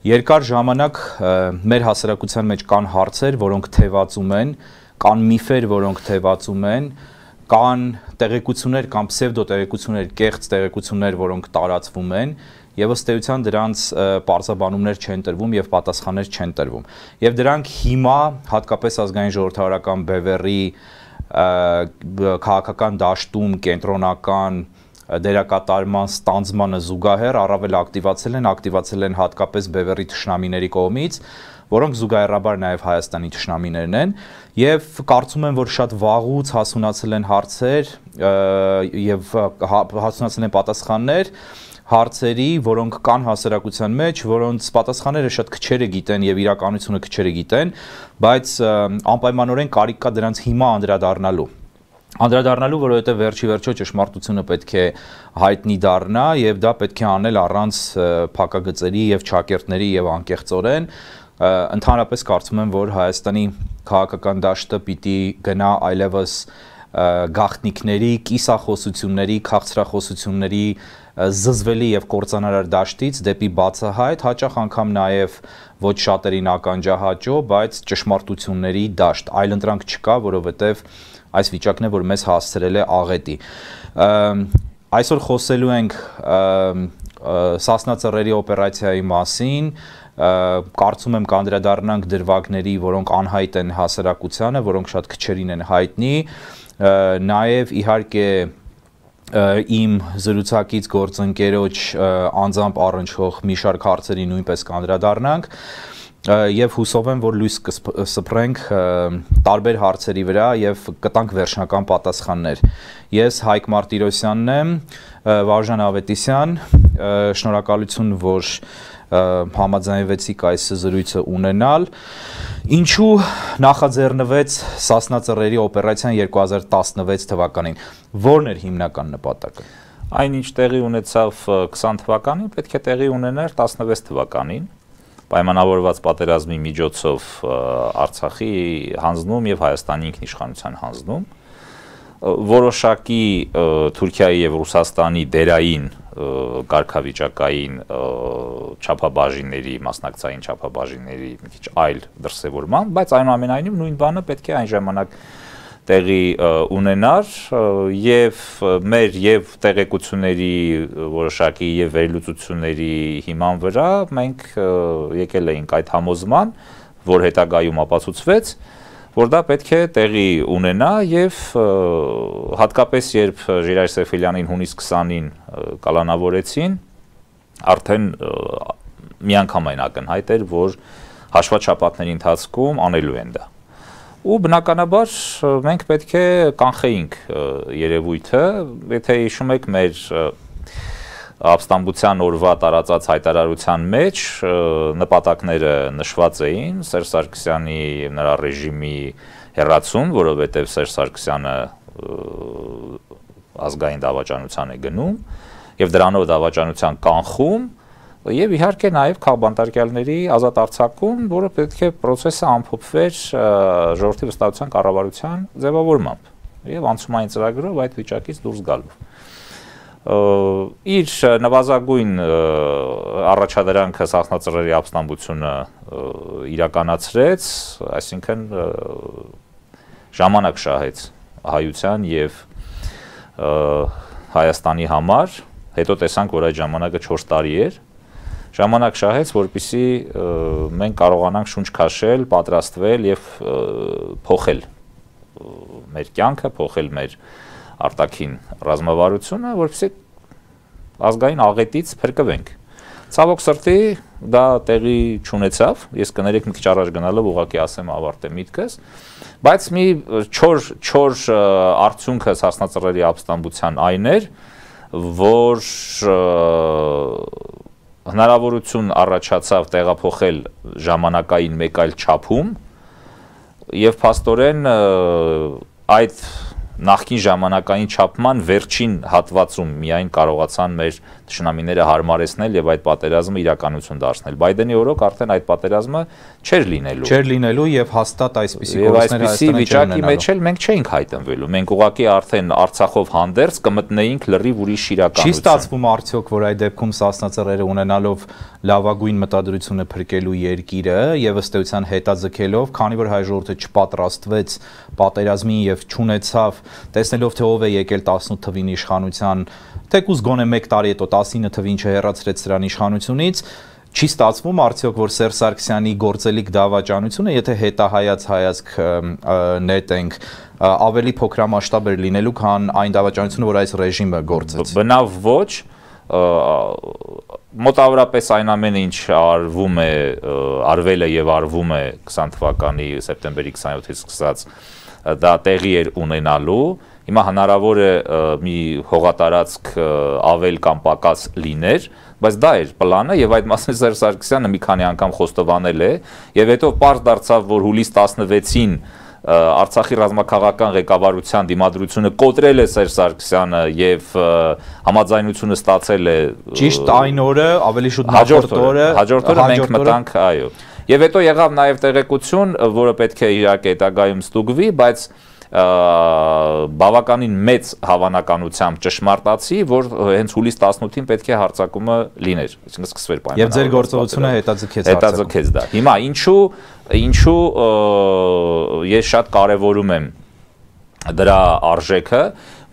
Երկար ժամանակ մեր հասարակության մեջ կան հարցեր, որոնք թևածում են, կան միֆեր, որոնք թևածում են, կան տեղեկություններ կամ պսևդոտեղեկություններ, կեղծ տեղեկություններ, որոնք տարածվում են, եւ ըստ էության դրանց պարզաբանումներ չեն տրվում եւ պատասխաններ չեն տրվում։ Եվ դրանք հիմա հատկապես ազգային ժողովրդավարական բևեռի քաղաքական դաշտում կենտրոնական դերակատարման ստանձմանը զուգահեռ առավել ակտիվացել են հատկապես բևեռի թշնամիների կողմից, որոնք զուգահեռաբար նաև Հայաստանի թշնամիներն են, եւ կարծում եմ, որ շատ վաղուց հասունացել են հարցեր եւ հասունացել են պատասխաններ հարցերի, որոնք կան հասարակության մեջ, որոնց պատասխանները շատ քչերը գիտեն եւ իրականությունը քչերը գիտեն, բայց անպայմանորեն կարիք կա դրանց հիմա անդրադառնալու, որովհետև վերջի վերջո ճշմարտությունը պետք է հայտնի դառնա եւ դա պետք է անել առանց փակագծերի եւ չակերտների եւ անկեղծորեն։ Ընդհանրապես կարծում եմ, որ Հայաստանի քաղաքական դաշտը պիտի գնա այլևս գաղտնիքների, կիսախոսությունների, քաղցրախոսությունների զզվելի եւ կործանարար դաշտից դեպի բացահայտ, հաճախ անգամ նաեւ ոչ շատերին ականջահաճո, բայց ճշմարտությունների դաշտ։ Այլընտրանք չկա, որովհետեւ այս վիճակն է, որ մեզ հասցրել է աղետի։ Այսօր խոսելու ենք Սասնա Ծռերի օպերացիայի մասին, կարծում եմ կանդրադառնանք դրվագների, որոնք անհայտ են հասարակությանը, որոնք շատ քչերին են հայտնի, նաև իհարկե իմ զրուցակից գործընկերոջ անձամբ առնչվող մի շարք հարցերի նույնպես կանդրադառնանք եւ հուսով եմ, որ լույս կսփռենք տարբեր հարցերի վրա եւ կտանք վերջնական պատասխաններ։ Ես Հայկ Մարտիրոսյանն եմ, Վարժան Ավետիսյան, շնորհակալություն, որ համաձայնվեցիք այս զրույցը ունենալ։ Ինչու նախաձեռնվեց Սասնա Ծռերի օպերացիան 2016 թվականին։ Որն էր հիմնական նպատակը։ Այնինչ տեղի ունեցավ 20 թվականին, պետք է տեղի ունենար 16 թվականին։ Պայմանավորված պատերազմի միջոցով Արցախի հանձնում եւ Հայաստանի ինքնիշխանության հանձնում, որոշակի Թուրքիայի եւ Ռուսաստանի դերային կարգավիճակային չափաբաժինների, մասնակցային չափաբաժինների մի քիչ այլ դրսևորման, բայց այնուամենայնիվ նույն բանը պետք է այն ժամանակ տեղի ունենար եւ մեր եւ տեղեկությունների որոշակի եւ վերլուծությունների հիման վրա մենք եկել էինք այդ համոզման, որ հետագայում ապացուցվեց, որ դա պետք է տեղի ունենա եւ հատկապես երբ Ժիրայր Սեֆելյանին հունիս 20-ին կալանավորեցին, արդեն միանգամայն ակնհայտ էր, որ հաշվաչափակների ընթացքում անելու են դա։ Ու բնականաբար մենք պետք է կանխեինք երևույթը, եթե հիշում եք մեր ապստամբության օրվա տարածած հայտարարության մեջ նպատակները նշված էին Սերժ Սարգսյանի եւ նրա ռեժիմի հեռացում, որովհետեւ Սերժ Սարգսյանը ազգային դավաճանության է գնում եւ դրանով դավաճանության կանխում եւ իհարկե նաեւ քաղբանտարկյալների ազատ արձակում, որը պետք է process-ը ամփոփվեր ժողովրդի վստահության կառավարության ձևավորմամբ եւ անցումային ծրագրով այդ վիճակից դուրս գալով։ Իր նվազագույն առաջադրանքը Սասնա Ծռերի ապստամբությունը իրականացրեց, այսինքն ժամանակ շահեց հայության եւ Հայաստանի համար, հետո տեսանք, որ այդ ժամանակը 4 տարի էր, ժամանակ շահեց, որպեսզի մենք կարողանանք շունչ քաշել, պատրաստվել եւ փոխել մեր կյանքը, փոխել մեր արտաքին ռազմավարությունը, որպեսզի ազգային աղետից փրկվենք։ Ցավոք սրտի դա տեղի չունեցավ, ես կներեք մի քիչ առաջ գնալով ուղղակի ասեմ ավարտեմ միտքս, բայց մի չոր արդյունքը Սասնա Ծռերի ապստամբության այն էր, որ հնարավորություն առաջացավ տեղափոխել ժամանակային մեկ այլ չափում եւ փաստորեն այդ նախկին ժամանակային չափման վերջին հատվածում միայն կարողացան մեր թշնամիները հարմարեցնել եւ այդ պատերազմը իրականություն դարձնել։ Բայդենի օրոք արդեն այդ պատերազմը չէր լինելու եւ հաստատ այսպիսի վիճակի մեջ էլ մենք չէինք հայտնվելու։ Մենք ուղղակի արդեն Արցախով հանդերձ կմտնեինք լրիվ ուրիշ իրականություն։ Չի ստացվում արդյոք, որ այդ դեպքում Սասնա ծռերը ունենալով լավագույն մտադրությունը փրկելու երկիրը եւ ըստ էության հետաձգելով, քանի որ հայ ժողովուրդը չպատրաստվեց պատերազմին եւ չունեցավ, տեսնելով թե ով է եկել 18 թվին իշխանության, թեկուզ գոնե 1 տարի հետո 19 թվին չհեռացրեց սրան իշխանությունից, չի ստացվում արդյոք, որ Սերժ Սարգսյանի գործելիք դավաճանությունը, եթե հետահայաց հայացք նետենք, ավելի փոքրամասշտաբ էր լինելու, քան այն դավաճանությունը, որ այս ռեժիմը գործեց։ Բնավ ոչ, մոտավորապես այն ամենը, ինչ արվել է եւ արվում է 20 թվականի սեպտեմբերի 27-ից սկսած, դա տեղի էր ունենալու։ Հիմա հնարավոր է մի հողատարածք ավել կամ պակաս լիներ, բայց դա էր պլանը եւ այդ մասին Սերժ Սարգսյանը մի քանի անգամ խոստովանել է եւ հետո պարզ դարձավ, որ հուլիս 16-ին Արցախի ռազմաքաղաքական ղեկավարության դիմադրությունը կոտրել է Սերժ Սարգսյանը եւ համաձայնությունը ստացել է ճիշտ այն օրը, ավելի շուտ հաջորդ օրը մենք մտանք, այո։ Եվ հետո եղավ նաեւ տեղեկություն, որը պետք է իհարկե հետագայում ստուգվի, բայց բավականին մեծ հավանականությամբ ճշմարտացի, որ հենց հուլիս 18-ին պետք է հարձակումը լիներ, այսինքն սկսվեր պայմանավորված։ Եվ ձեր գործողությունը հետաձգեց դա։ Հիմա ինչու ես շատ կարևորում եմ դրա արժեքը,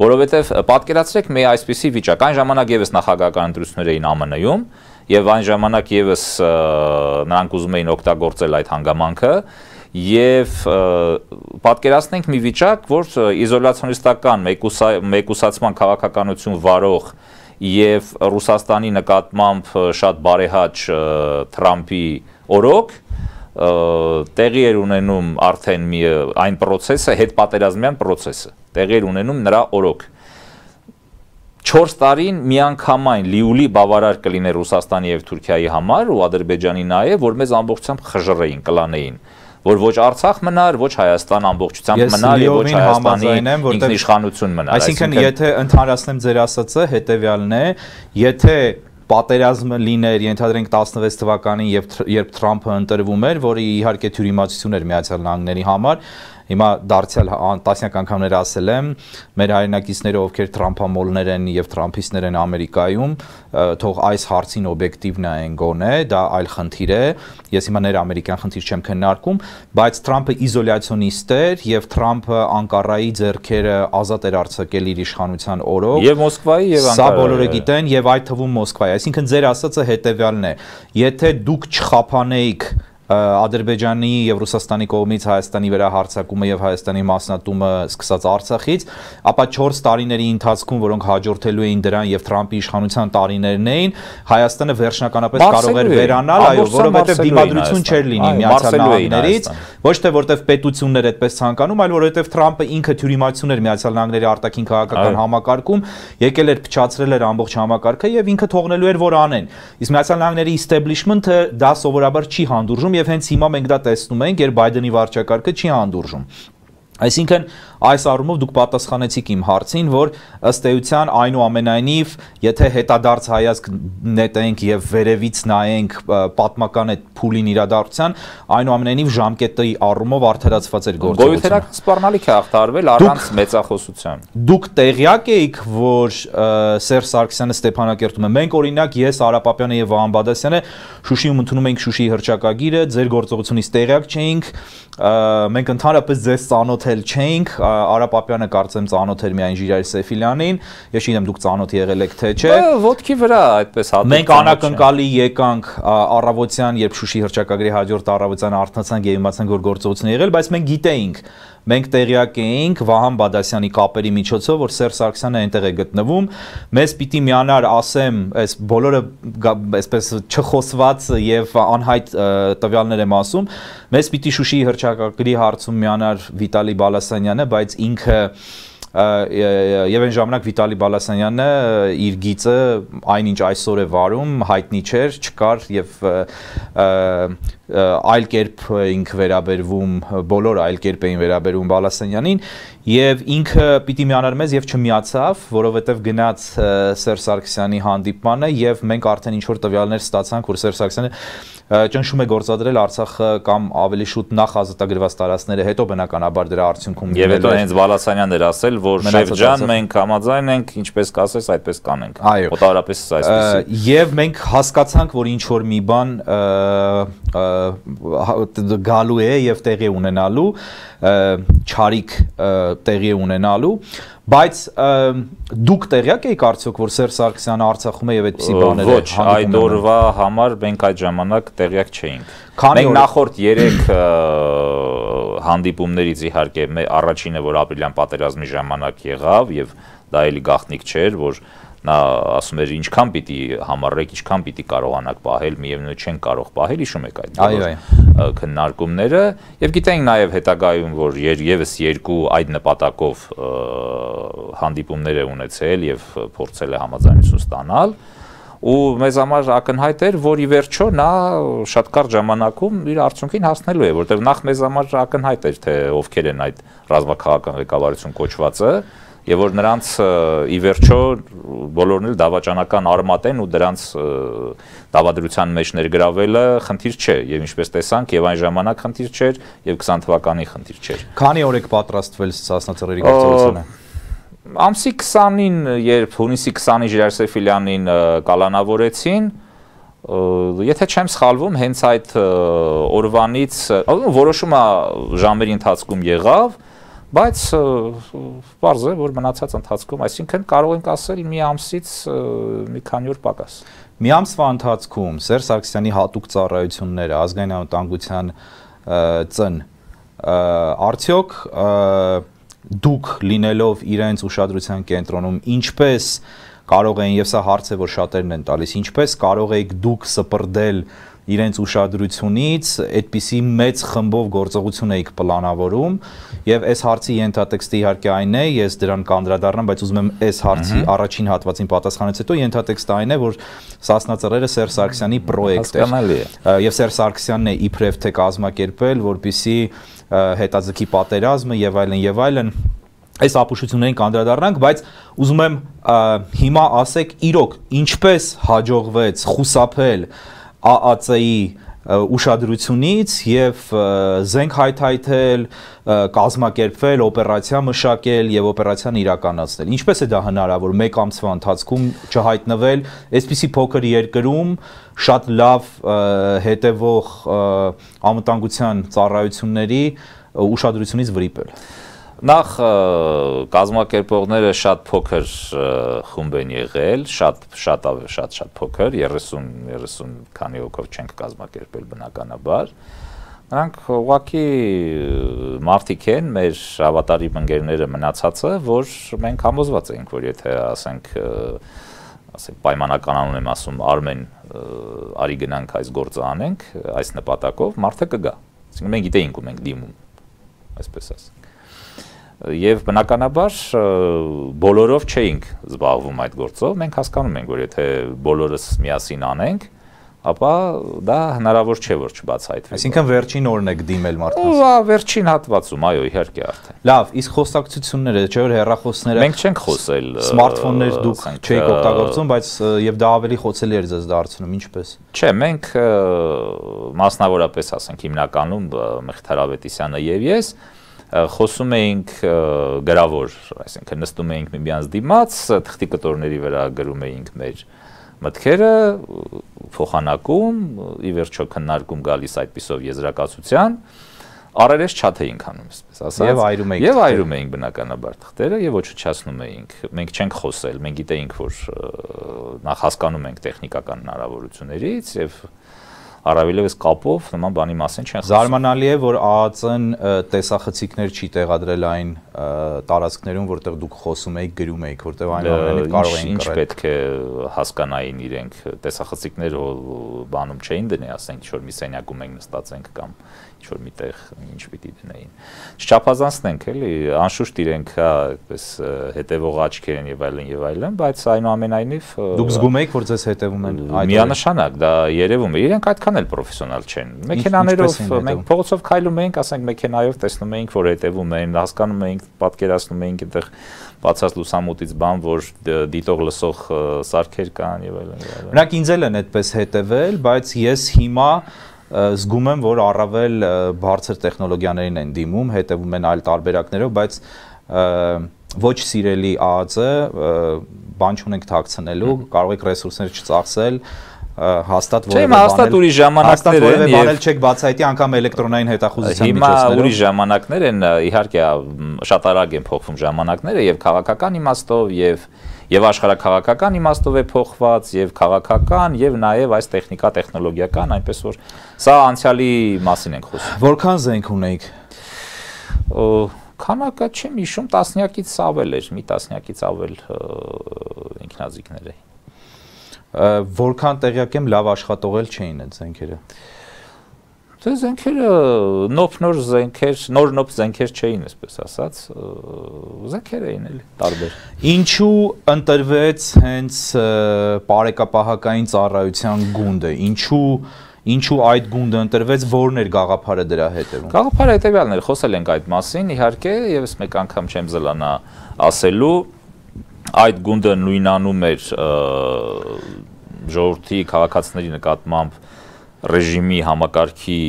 որովհետև պատկերացրեք մի այսպիսի վիճակ, այն ժամանակ եւս նախագահական ընտրություններ էին ԱՄՆ-ում եւ այն ժամանակ եւս նրանք ուզում էին օգտագործել այդ հանգամանքը եւ պատկերացնենք մի վիճակ, որ իզոլացիոնիստական մեկուսացման քաղաքականություն վարող եւ Ռուսաստանի նկատմամբ շատ բարեհաճ Թրամփի օրոք տեղի էր ունենում արդեն այն process-ը, հետպատերազմյան process-ը, տեղի էր ունենում նրա օրոք։ 4 տարին միանգամայն լիուլի բավարար կլիներ Ռուսաստանի եւ Թուրքիայի համար ու Ադրբեջանի նաեւ, որ մեզ ամբողջությամբ խժռեին, կլանեին, որ ոչ Արցախ մնար, ոչ Հայաստան ամբողջությամբ մնար եւ ոչ Հայաստանի ինքնիշխանություն մնար։ Այսինքն եթե ընդհանրացնեմ ձեր ասածը, հետեւյալն է, եթե պատերազմը լիներ, ենթադրենք 16 թվականին, երբ Թրամփը ընտրվում էր, որը իհարկե թյուրիմացություն էր Միացյալ Նահանգների համար, հիմա դարձյալ տասնյակ անգամներ ասել եմ, մեր հայրենակիցները, ովքեր Թրամփամոլներ են եւ Թրամփիստներ են Ամերիկայում, թող այս հարցին օբյեկտիվ նայեն գոնե, դա այլ խնդիր է, ես հիմա ներամերիկյան խնդիր չեմ քննարկում, բայց Թրամփը իզոլյացիոնիստ էր եւ Թրամփը Անկարայի ձեռքերը ազատ էր արձակել իր իշխանության օրոք եւ Մոսկվայի եւ Անկարայի, սա բոլորը գիտեն եւ այդ թվում Մոսկվայի, այսինքն ձեր ասածը հետեւյալն է, եթե դուք չխափանեիք Ադրբեջանի եւ Ռուսաստանի կողմից Հայաստանի վրա հարձակումը եւ Հայաստանի մասնատումը սկսած Արցախից, ապա 4 տարիների ընթացքում, որոնք հաջորդելու էին դրան եւ Թրամփի իշխանության տարիներն էին, Հայաստանը վերջնականապես կարող էր վերանալ, այո, որովհետեւ դիմադրություն չէր լինի Միացյալ Նահանգներից, ոչ թե որտեվ պետություններ այդպես ցանկանում, այլ որովհետեւ Թրամփը ինքը թյուրիմացություն էր Միացյալ Նահանգների արտաքին քաղաքական համակարգում, եկել էր փչացրել էր ամբողջ համակարգը եւ ինքը թողնելու էր որ անեն։ Իսկ Միացյալ Նահանգների establishment-ը դա սովորաբար չի հանդուրժում եւ հենց հիմա մենք դա տեսնում ենք, երբ Բայդենի վարչակարգը չի հանդուրժում։ Այսինքն այս առումով դուք պատասխանեցիք իմ հարցին, որ ըստ էության այնուամենայնիվ, եթե հետադարձ հայացք նետենք եւ վերևից նայենք պատմական այդ փուլին իրադարձության, այնուամենայնիվ ժամկետի առումով արդարացված էր գործողությունը։ Գոյութերական սպառնալիք է ախտարվել առանց մեծախոսության։ Դուք տեղյակ եք, որ Սերժ Սարգսյանը Ստեփանակերտում է։ Մենք օրինակ ես Արա Պապյանը եւ Վահան Բադասյանը Շուշիում ընդունում ենք Շուշիի հռչակագիրը, ձեր գործողությունից տեղյակ չէինք, մենք ընդհանրապես ձեզ ծանոթել չէինք, Արա Պապյանը կարծեմ ծանոթ էր միայն Ժիրայր Սեֆիլյանին, ես չգիտեմ դուք ծանոթ եղել եք թե չէ։ Ոտքի վրա այդպես հատուկ։ Մենք անակնկալի եկանք առավոտյան, երբ Շուշի հռչակագրի հաջորդ առավոտյան արթնացանք եւ իմացանք, որ գործողություն է եղել, բայց մենք գիտեինք, մենք տեղյակ էինք Վահան Բադասյանի կապերի միջոցով, որ Սերժ Սարգսյանը այնտեղ է գտնվում, մեզ պիտի միանար, ասեմ, այս բոլորը այսպես չխոսված եւ անհայտ տվյալներ եմ ասում, մեզ պիտի Շուշիի հռչակագրի հարցում միանար Վիտալի Բալասանյանը, բայց ինքը եւ այն ժամանակ Վիտալի Բալասանյանը իր գիծը այնինչ այսօր է վարում հայտնի չէր, չկար եւ այլ կերպ ինք վերաբերվում, բոլոր այլ կերպ էին վերաբերվում Բալասանյանին Եվ ինքը պիտի միանար մեզ եւ չմիացավ, որովհետեւ գնաց Սերժ Սարգսյանի հանդիպմանը եւ մենք արդեն ինչ որ տվյալներ ստացանք, որ Սերժ Սարգսյանը ճնշում է գործադրել Արցախը կամ ավելի շուտ նախ ազատագրված տարածքները, հետո բնականաբար դրա արդյունքում եւ հետո հենց Բալասանյանն էր ասել, որ Շերջան մենք համաձայն ենք, ինչպես կասես, այդպես կանենք։ Մոտավորապես այսպես։ Եվ մենք հասկացանք, որ ինչ որ մի բան գալու է եւ տեղի ունենալու, չարիք տեղի ունենալու, բայց դուք տեղյակ եք արդյոք, որ Սերժ Սարգսյանը Արցախում է եւ այդպիսի բաներ է։ Ոչ, այդ օրվա համար մենք այդ ժամանակ տեղյակ չէինք։ Մենք նախորդ 3 հանդիպումներից իհարկե առաջինը, որ ապրիլյան պատերազմի ժամանակ եղավ եւ դա էլի գաղտնիք չէր, որ նա ասում էր ինչքան պիտի համառեք, ինչքան պիտի կարողանաք պահել, միևնույն չեն կարող պահել, հիշում եք այդ քննարկումները եւ գիտենք նաեւ հետագայում, որ եւս 2 այդ նպատակով հանդիպումներ է ունեցել եւ փորձել է համաձայնություն ստանալ ու մեզ համար ակնհայտ էր, որ ի վերջո նա շատ կարճ ժամանակում իր արդյունքին հասնելու է, որտեղ նախ մեզ համար ակնհայտ էր, թե ովքեր են այդ ռազմաքաղաքական ղեկավարություն կոչվածը եւ որ նրանց ի վերջո բոլորն էլ դավաճանական արմատ են ու դրանց դավադրության մեջ ներգրավելը խնդիր չէ եւ ինչպես տեսանք եւ այն ժամանակ խնդիր չէր եւ 20 թվականի խնդիր չէր։ Քանի օր եք պատրաստվել Սասնա-Ծռերի գործողությանը։ Ամսի 20-ին, երբ հունիսի 20-ին Ժիրայր Սեֆիլյանին կալանավորեցին, եթե չեմ սխալվում, հենց այդ օրվանից որոշումը ժամերի ընթացքում եղավ, բայց պարզ է, որ մնացած ընթացքում, այսինքն կարող ենք ասել մի ամսից մի քանի օր պակաս։ Մի ամսվա ընթացքում Սերժ Սարգսյանի հատուկ ծառայությունները, ազգային անվտանգության ծն, արդյոք դուք լինելով իրենց ուշադրության կենտրոնում, ինչպես կարող էին, եւ սա հարց է, որ շատերն են տալիս, ինչպես կարող եք դուք սպրդել իրենց ուշադրությունից այդպիսի մեծ խմբով գործողություն էիք պլանավորում եւ այս հարցի ենթատեքստը իհարկե այն է, ես դրան կանդրադառնամ, բայց ուզում եմ այս հարցի առաջին հատվածին պատասխանից հետո ենթատեքստը այն է, որ Սասնա-Ծռերը Սերժ Սարգսյանի պրոյեկտ է եւ Սերժ Սարգսյանն է իբրև թե կազմակերպել, որպիսի հետաձգի պատերազմը եւ այլն այս ապուշություններին կանդրադառնանք, բայց ուզում եմ հիմա ասեք իրոք ինչպես հաջողվեց խուսափել ԱԱՑ-ի ուշադրությունից եւ զենք հայթայթել, կազմակերպվել, օպերացիա մշակել եւ օպերացիան իրականացնել։ Ինչպես է դա հնարավոր մեկ ամսվա ընթացքում չհայտնվել այսպիսի փոքր երկրում շատ լավ հետևող անվտանգության ծառայությունների ուշադրությունից վրիպել։ Նախ կազմակերպողները շատ փոքր խումբ են եղել, շատ փոքր, 30 քանի հոգով չենք կազմակերպել բնականաբար։ Նրանք ուղղակի մարդիկ են, մեր հավատարիմ ընկերները մնացածը, որ մենք համոզված ենք, որ եթե ասենք պայմանական անուն եմ ասում, Արմեն, արի գնանք այս գործը անենք, այս նպատակով, մարդը կգա։ Այսինքն մենք գիտեինք ու մենք դիմում, այսպես ասենք։ Եվ բնականաբար բոլորով չէինք զբաղվում այդ գործով, մենք հասկանում ենք, որ եթե բոլորս միասին անենք, ապա դա հնարավոր չէ, որ չբացահայտվի։ Այսինքն վերջին օրն եք դիմել մարդկանց։ Վերջին հատվածում, այո, իհարկե արդեն։ Լավ, իսկ խոսակցությունները, չէ՞ որ հեռախոսները։ Մենք չենք խոսել։ Սմարթֆոններ դուք չեք օգտագործում, բայց եւ դա ավելի խոցելի էր ձեզ դարձնում, ինչպես։ Չէ, մենք մասնավորապես ասենք հիմնականում Մեղթար Ավետիսյանը եւ ես խոսում էինք գրավոր, այսինքն նստում էինք միմյանց դիմաց, թղթի կտորների վրա գրում էինք մեր մտքերը, փոխանակում, ի վերջո քննարկում գալիս այդպիսով եզրակացության, առերես չաթ էինք անում, այսպես ասած, եւ այրում էինք բնականաբար թղթերը եւ ոչնչացնում էինք։ Մենք չենք խոսել, մենք գիտեինք, որ նախ հասկանում ենք տեխնիկական հնարավորություններից եւ առավելևս կապով նման բանի մասին չեն խոսում։ Զարմանալի է, որ ԱԱՑ-ն տեսախցիկներ չի տեղադրել այն տարածքներում, որտեղ դուք խոսում եք, գրում եք, որտեղ այնուամենայնիվ կարող էին կռել։ Ինչ պետք է հասկանային իրենք, տեսախցիկներ բանում չէին դնի, ասենք ինչ-որ մի սենյակում ենք նստած ենք կամ ինչ-որ միտեղ ինչ պիտի դնեին։ Չչափազանցնենք էլի, անշուշտ իրենք այդպես հետևող աչքեր են եւ այլն, բայց այնուամենայնիվ դուք զգում եք, որ ձեզ հետևում են այդ միանշանակ դա երևում է։ Իրենք այդքան նրան էլ պրոֆեսիոնալ չեն։ Մեքենաներով մենք փողոցով քայլում էինք, ասենք մեքենայով տեսնում էինք, որ հետևում են, հասկանում էինք, պատկերացնում էինք այդտեղ բացած լուսամուտից բան, որ դիտող լսող սարքեր կան եւ այլն։ Նրանք ինձ էլ են այդպես հետևել, բայց ես հիմա զգում եմ, որ առավել բարձր տեխնոլոգիաներին են դիմում, հետևում են այլ տարբերակներով, բայց ոչ սիրելի ԱԱԾ բան չունենք թաքցնելու, կարող եք ռեսուրսներ չծախսել, հաստատ ուրիշ ժամանակներ են եւ բանել չեք բացահայտի անգամ էլեկտրոնային հետախուզության միջոցներով։ Հիմա ուրիշ ժամանակներ են, իհարկե շատ արագ են փոխվում ժամանակները եւ քաղաքական իմաստով եւ աշխարհաքաղաքական իմաստով է փոխված եւ քաղաքական եւ նաեւ այս տեխնիկա տեխնոլոգիական, այնպես որ սա անցյալի մասին ենք խոսում։ Որքան զենք ունեիք։ Քանակը չեմ հիշում, տասնյակից ավել էր, մի տասնյակից ավել ինքնազիգներ է։ Որքան տեղյակ եմ, լավ աշխատողել չէին այդ զենքերը։ Դե զենքերը նոր զենքեր չէին, այսպես ասած, զենքեր էին էլի տարբեր։ Ինչու ընտրվեց հենց բարեկապահական ծառայության գունդը։ Ինչու այդ գունդը ընտրվեց, որն էր գաղափարը դրա հետևում։ Գաղափարը հետևյալն էր, խոսել ենք այդ մասին, իհարկե, եւս մեկ անգամ չեմ զլանա ասելու, այդ գունդը նույնանում էր ժողովրդի քաղաքացիների նկատմամբ ռեժիմի համակարգի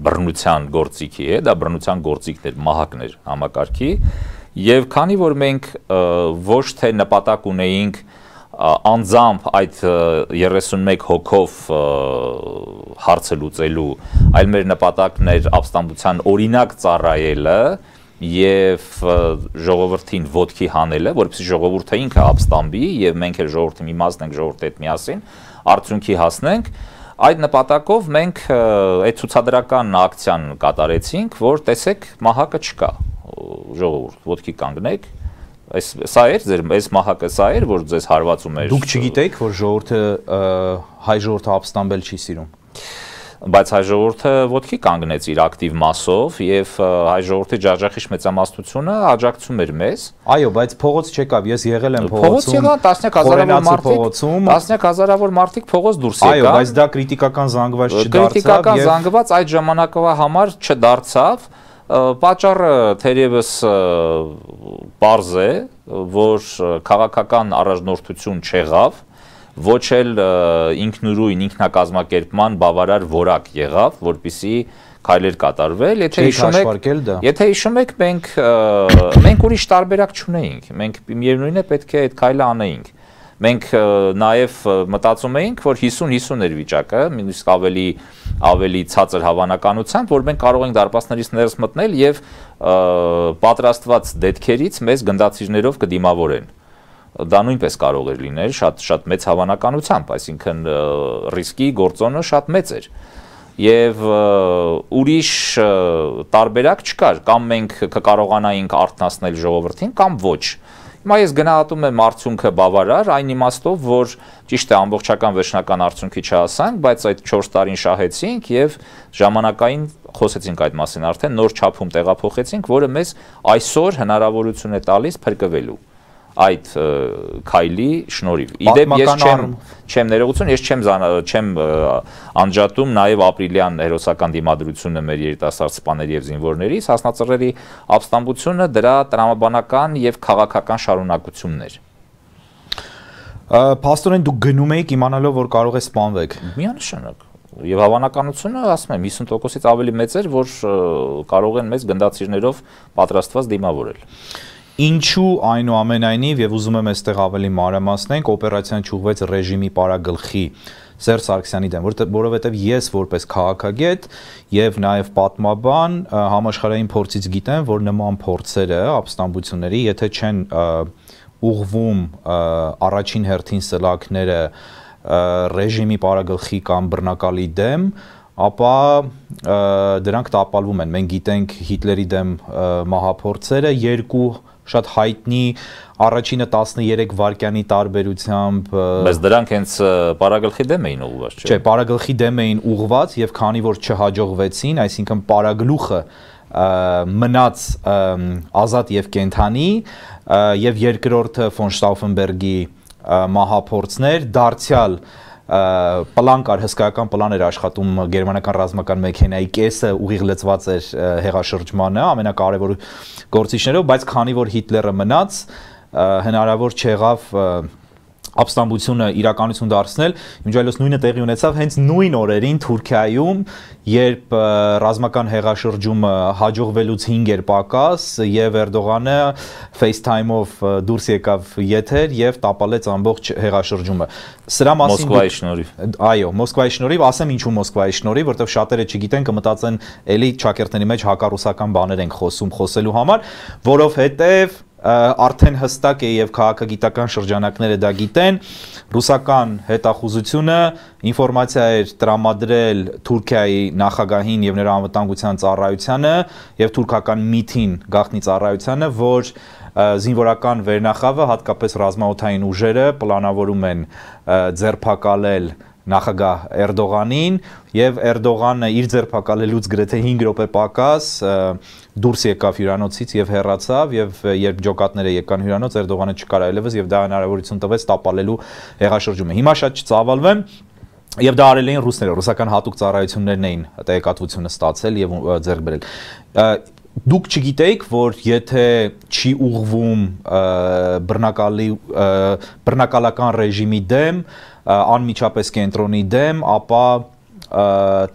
բռնության գործիքի է, դա բռնության գործիքներ, մահակներ համակարգի, եւ քանի որ մենք ոչ թե նպատակ ունեինք անձամբ այդ 31 հոգով հարցը լուծելու, այլ մեր նպատակն էր ապստամբության օրինակ ծառայելը եւ ժողովրդին ոտքի հանելը, որովհետեւ ժողովուրդը ինքը ապստամբի եւ մենք էլ ժողովրդի մի մասն ենք ժողովրդի հետ միասին արդյունքի հասնենք, այդ նպատակով մենք այդ ցուցադրական ակցիան կատարեցինք, որ տեսեք մահակը չկա, ժողովուրդ ոտքի կանգնեք, սա էր ձեր այս մահակը սա էր, որ ձեզ հարվածում էր։ Դուք չգիտեիք, որ ժողովուրդը հայ ժողովուրդը ապստամբել չի սիրում։ Բայց հայ ժողովուրդը ոտքի կանգնեց իր ակտիվ մասով եւ հայ ժողովրդի ջախջախիչ մեծամասնությունը աջակցում էր մեզ։ Այո, բայց փողոց չեկավ, ես եղել եմ փողոցում, տասնյակ հազարավոր մարդիկ փողոց դուրս եկան։ Այո, բայց դա քրիտիկական զանգված չդարձավ։ Քրիտիկական զանգված այդ ժամանակվա համար չդարձավ։ Պատճառը թերևս պարզ է, որ քաղաքական առաջնորդություն չեղավ, ոչ էլ ինքնուրույն ինքնակազմակերպման բավարար որակ եղավ, որպեսզի քայլեր կատարվել, եթե հիշում եք, մենք ուրիշ տարբերակ չունեինք, մենք միևնույն է պետք է այդ քայլը անեինք։ Մենք նաև մտածում էինք, որ 50-50 էր վիճակը, նույնիսկ ավելի ցածր հավանականությամբ, որ մենք կարող ենք դարպասներից ներս մտնել եւ պատրաստված դետքերից մեզ գնդացիրներով կդիմավորեն։ Դա նույնպես կարող էր լինել շատ մեծ հավանականությամբ, այսինքն ռիսկի գործոնը շատ մեծ էր։ Եվ ուրիշ տարբերակ չկար, կամ մենք կկարողանայինք արթնացնել ժողովրդին, կամ ոչ։ Հիմա ես գնահատում եմ արդյունքը բավարար, այն իմաստով, որ ճիշտ է ամբողջական վերջնական արդյունքի չհասանք, բայց այդ 4 տարին շահեցինք եւ ժամանակային խոսեցինք այդ մասին արդեն նոր չափում տեղափոխեցինք, որը մեզ այսօր հնարավորություն է տալիս փրկվելու այդ քայլի շնորհիվ։ Իդեպ ես չեմ ներողություն, ես չեմ անջատում նաև ապրիլյան հերոսական դիմադրությունը մեր երիտասարդ սպաների եւ զինվորներից, հասնածռերի ապստամբությունը դրա տրամաբանական եւ քաղաքական շարունակությունն էր։ Փաստորեն դուք գնում եք իմանալով, որ կարող է սպանվեք։ Միանշանակ։ Եվ հավանականությունը, ասում եմ, 50%-ից ավելի մեծ էր, որ կարող են մեզ գնդացիրներով պատրաստված դիմավորել։ Ինչու այնուամենայնիվ եւ ուզում եմ այստեղ ավելի մանրամասնենք, օպերացիան ճուղվեց ռեժիմի պարագլխի Սերժ Սարգսյանի դեմ, որովհետեւ ես որպես քաղաքագետ եւ նաեւ պատմաբան համաշխարհային փորձից գիտեմ, որ նման փորձերը ապստամբությունների, եթե չեն ուղղվում առաջին հերթին սլաքները ռեժիմի պարագլխի կամ բռնակալի դեմ, ապա դրանք տապալվում են։ Մենք գիտենք Հիտլերի դեմ մահափորձերը, երկու շատ հայտնի առաջինը 13 վայրկյանի տարբերությամբ, բայց դրանք հենց պարագլխի դեմ էին ուղղված, չէ՞։ Չէ, պարագլխի դեմ էին ուղղված եւ քանի որ չհաջողվեցին, այսինքն պարագլուխը մնաց ազատ եւ կենթանի եւ երկրորդը ֆոն Շտաուֆենբերգի մահափորձներ դարձյալ պլան կար, հսկայական պլան էր աշխատում գերմանական ռազմական մեքենայի կեսը ուղիղ լծված էր հեղաշրջմանը ամենակարևոր գործիչներով, բայց քանի որ Հիտլերը մնաց, հնարավոր չեղավ ապստամբությունը իրականություն դարձնել, ինչ այլոց նույնը տեղի ունեցավ հենց նույն օրերին Թուրքիայում, երբ ռազմական հեղաշրջումը հաջողվելուց 5 էր պակաս եւ Էրդողանը FaceTime-ով դուրս եկավ եթեր եւ տապալեց ամբողջ հեղաշրջումը։ Սրա մասին Մոսկվայի շնորհիվ։ Այո, Մոսկվայի շնորհիվ, ասեմ ինչու Մոսկվայի շնորհիվ, որտեղ շատերը չգիտեն, կմտածեն, էլի ճակերտների մեջ հակառուսական բաներ ենք խոսելու համար, որովհետեւ արդեն հստակ է եւ քաղաքագիտական շրջանակները դա գիտեն, ռուսական հետախուզությունը ինֆորմացիա էր տրամադրել Թուրքիայի նախագահին եւ նրա անվտանգության ծառայությանը եւ թուրքական ՄԻԹ-ին գաղտնի ծառայությանը, որ զինվորական վերնախավը, հատկապես ռազմաօդային ուժերը պլանավորում են ձերբակալել նախագահ Էրդողանին եւ Էրդողանը իր ձերբակալելուց գրեթե 5 րոպե պակաս դուրս եկավ հյուրանոցից եւ հեռացավ եւ երբ ջոկատները եկան հյուրանոց Էրդողանը չկար այլևս եւ դա հնարավորություն տվեց տապալելու հեղաշրջումը։ Հիմա շատ չծավալվեմ եւ դա արել էին ռուսները, ռուսական հատուկ ծառայություններն էին տեղեկատվությունը ստացել եւ ձեռք բերել։ Դուք չգիտեիք, որ եթե չի ուղղվում բռնակալական ռեժիմի դեմ, անմիջապես կենտրոնի դեմ, ապա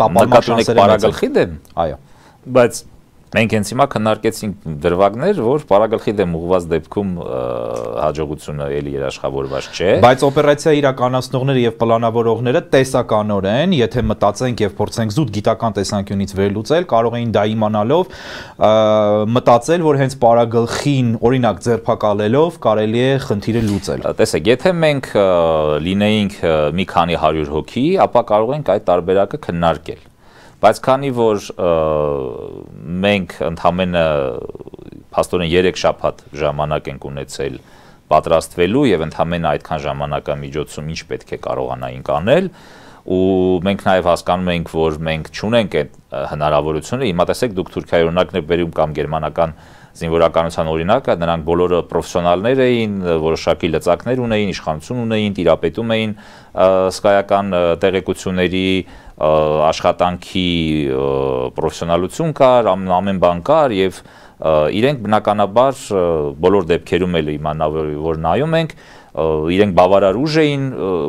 տապալման շանսերը պարագլխի դեմ։ Այո։ Բայց մենք հենց հիմա քննարկեցինք դրվագներ, որ պարագլխի դեմ ուղղված դեպքում հաջողությունը էլի երաշխավորված չէ։ Բայց օպերացիա իրականացնողները եւ պլանավորողները տեսականորեն, եթե մտածենք եւ փորձենք զուտ գիտական տեսանկյունից վերլուծել, կարող էին դա իմանալով մտածել, որ հենց պարագլխին օրինակ ձերբակալելով կարելի է խնդիրը լուծել։ Տեսեք, եթե մենք լինեինք մի քանի 100 հոգի, ապա կարող ենք այդ տարբերակը քննարկել։ Բայց քանի որ մենք ընդամենը փաստորեն 3 շաբաթ ժամանակ ենք ունեցել պատրաստվելու եւ ընդամենը այդքան ժամանակամիջոցում ինչ պետք է կարողանայինք անել ու մենք նաեւ հասկանում ենք, որ մենք չունենք այդ հնարավորությունը, հիմա տեսեք դուք Թուրքիայի օրինակն եք բերում կամ գերմանական զինվորականության օրինակը, նրանք բոլորը պրոֆեսիոնալներ էին, որոշակի լծակներ ունեին, իշխանություն ունեին, տիրապետում էին հսկայական տեղեկությունների աշխատանքի պրոֆեսիոնալություն կար, ամեն բան կար եւ իրենք բնականաբար բոլոր դեպքերում էլ իմանալ որ նայում ենք իրենք բավարար ուժ էին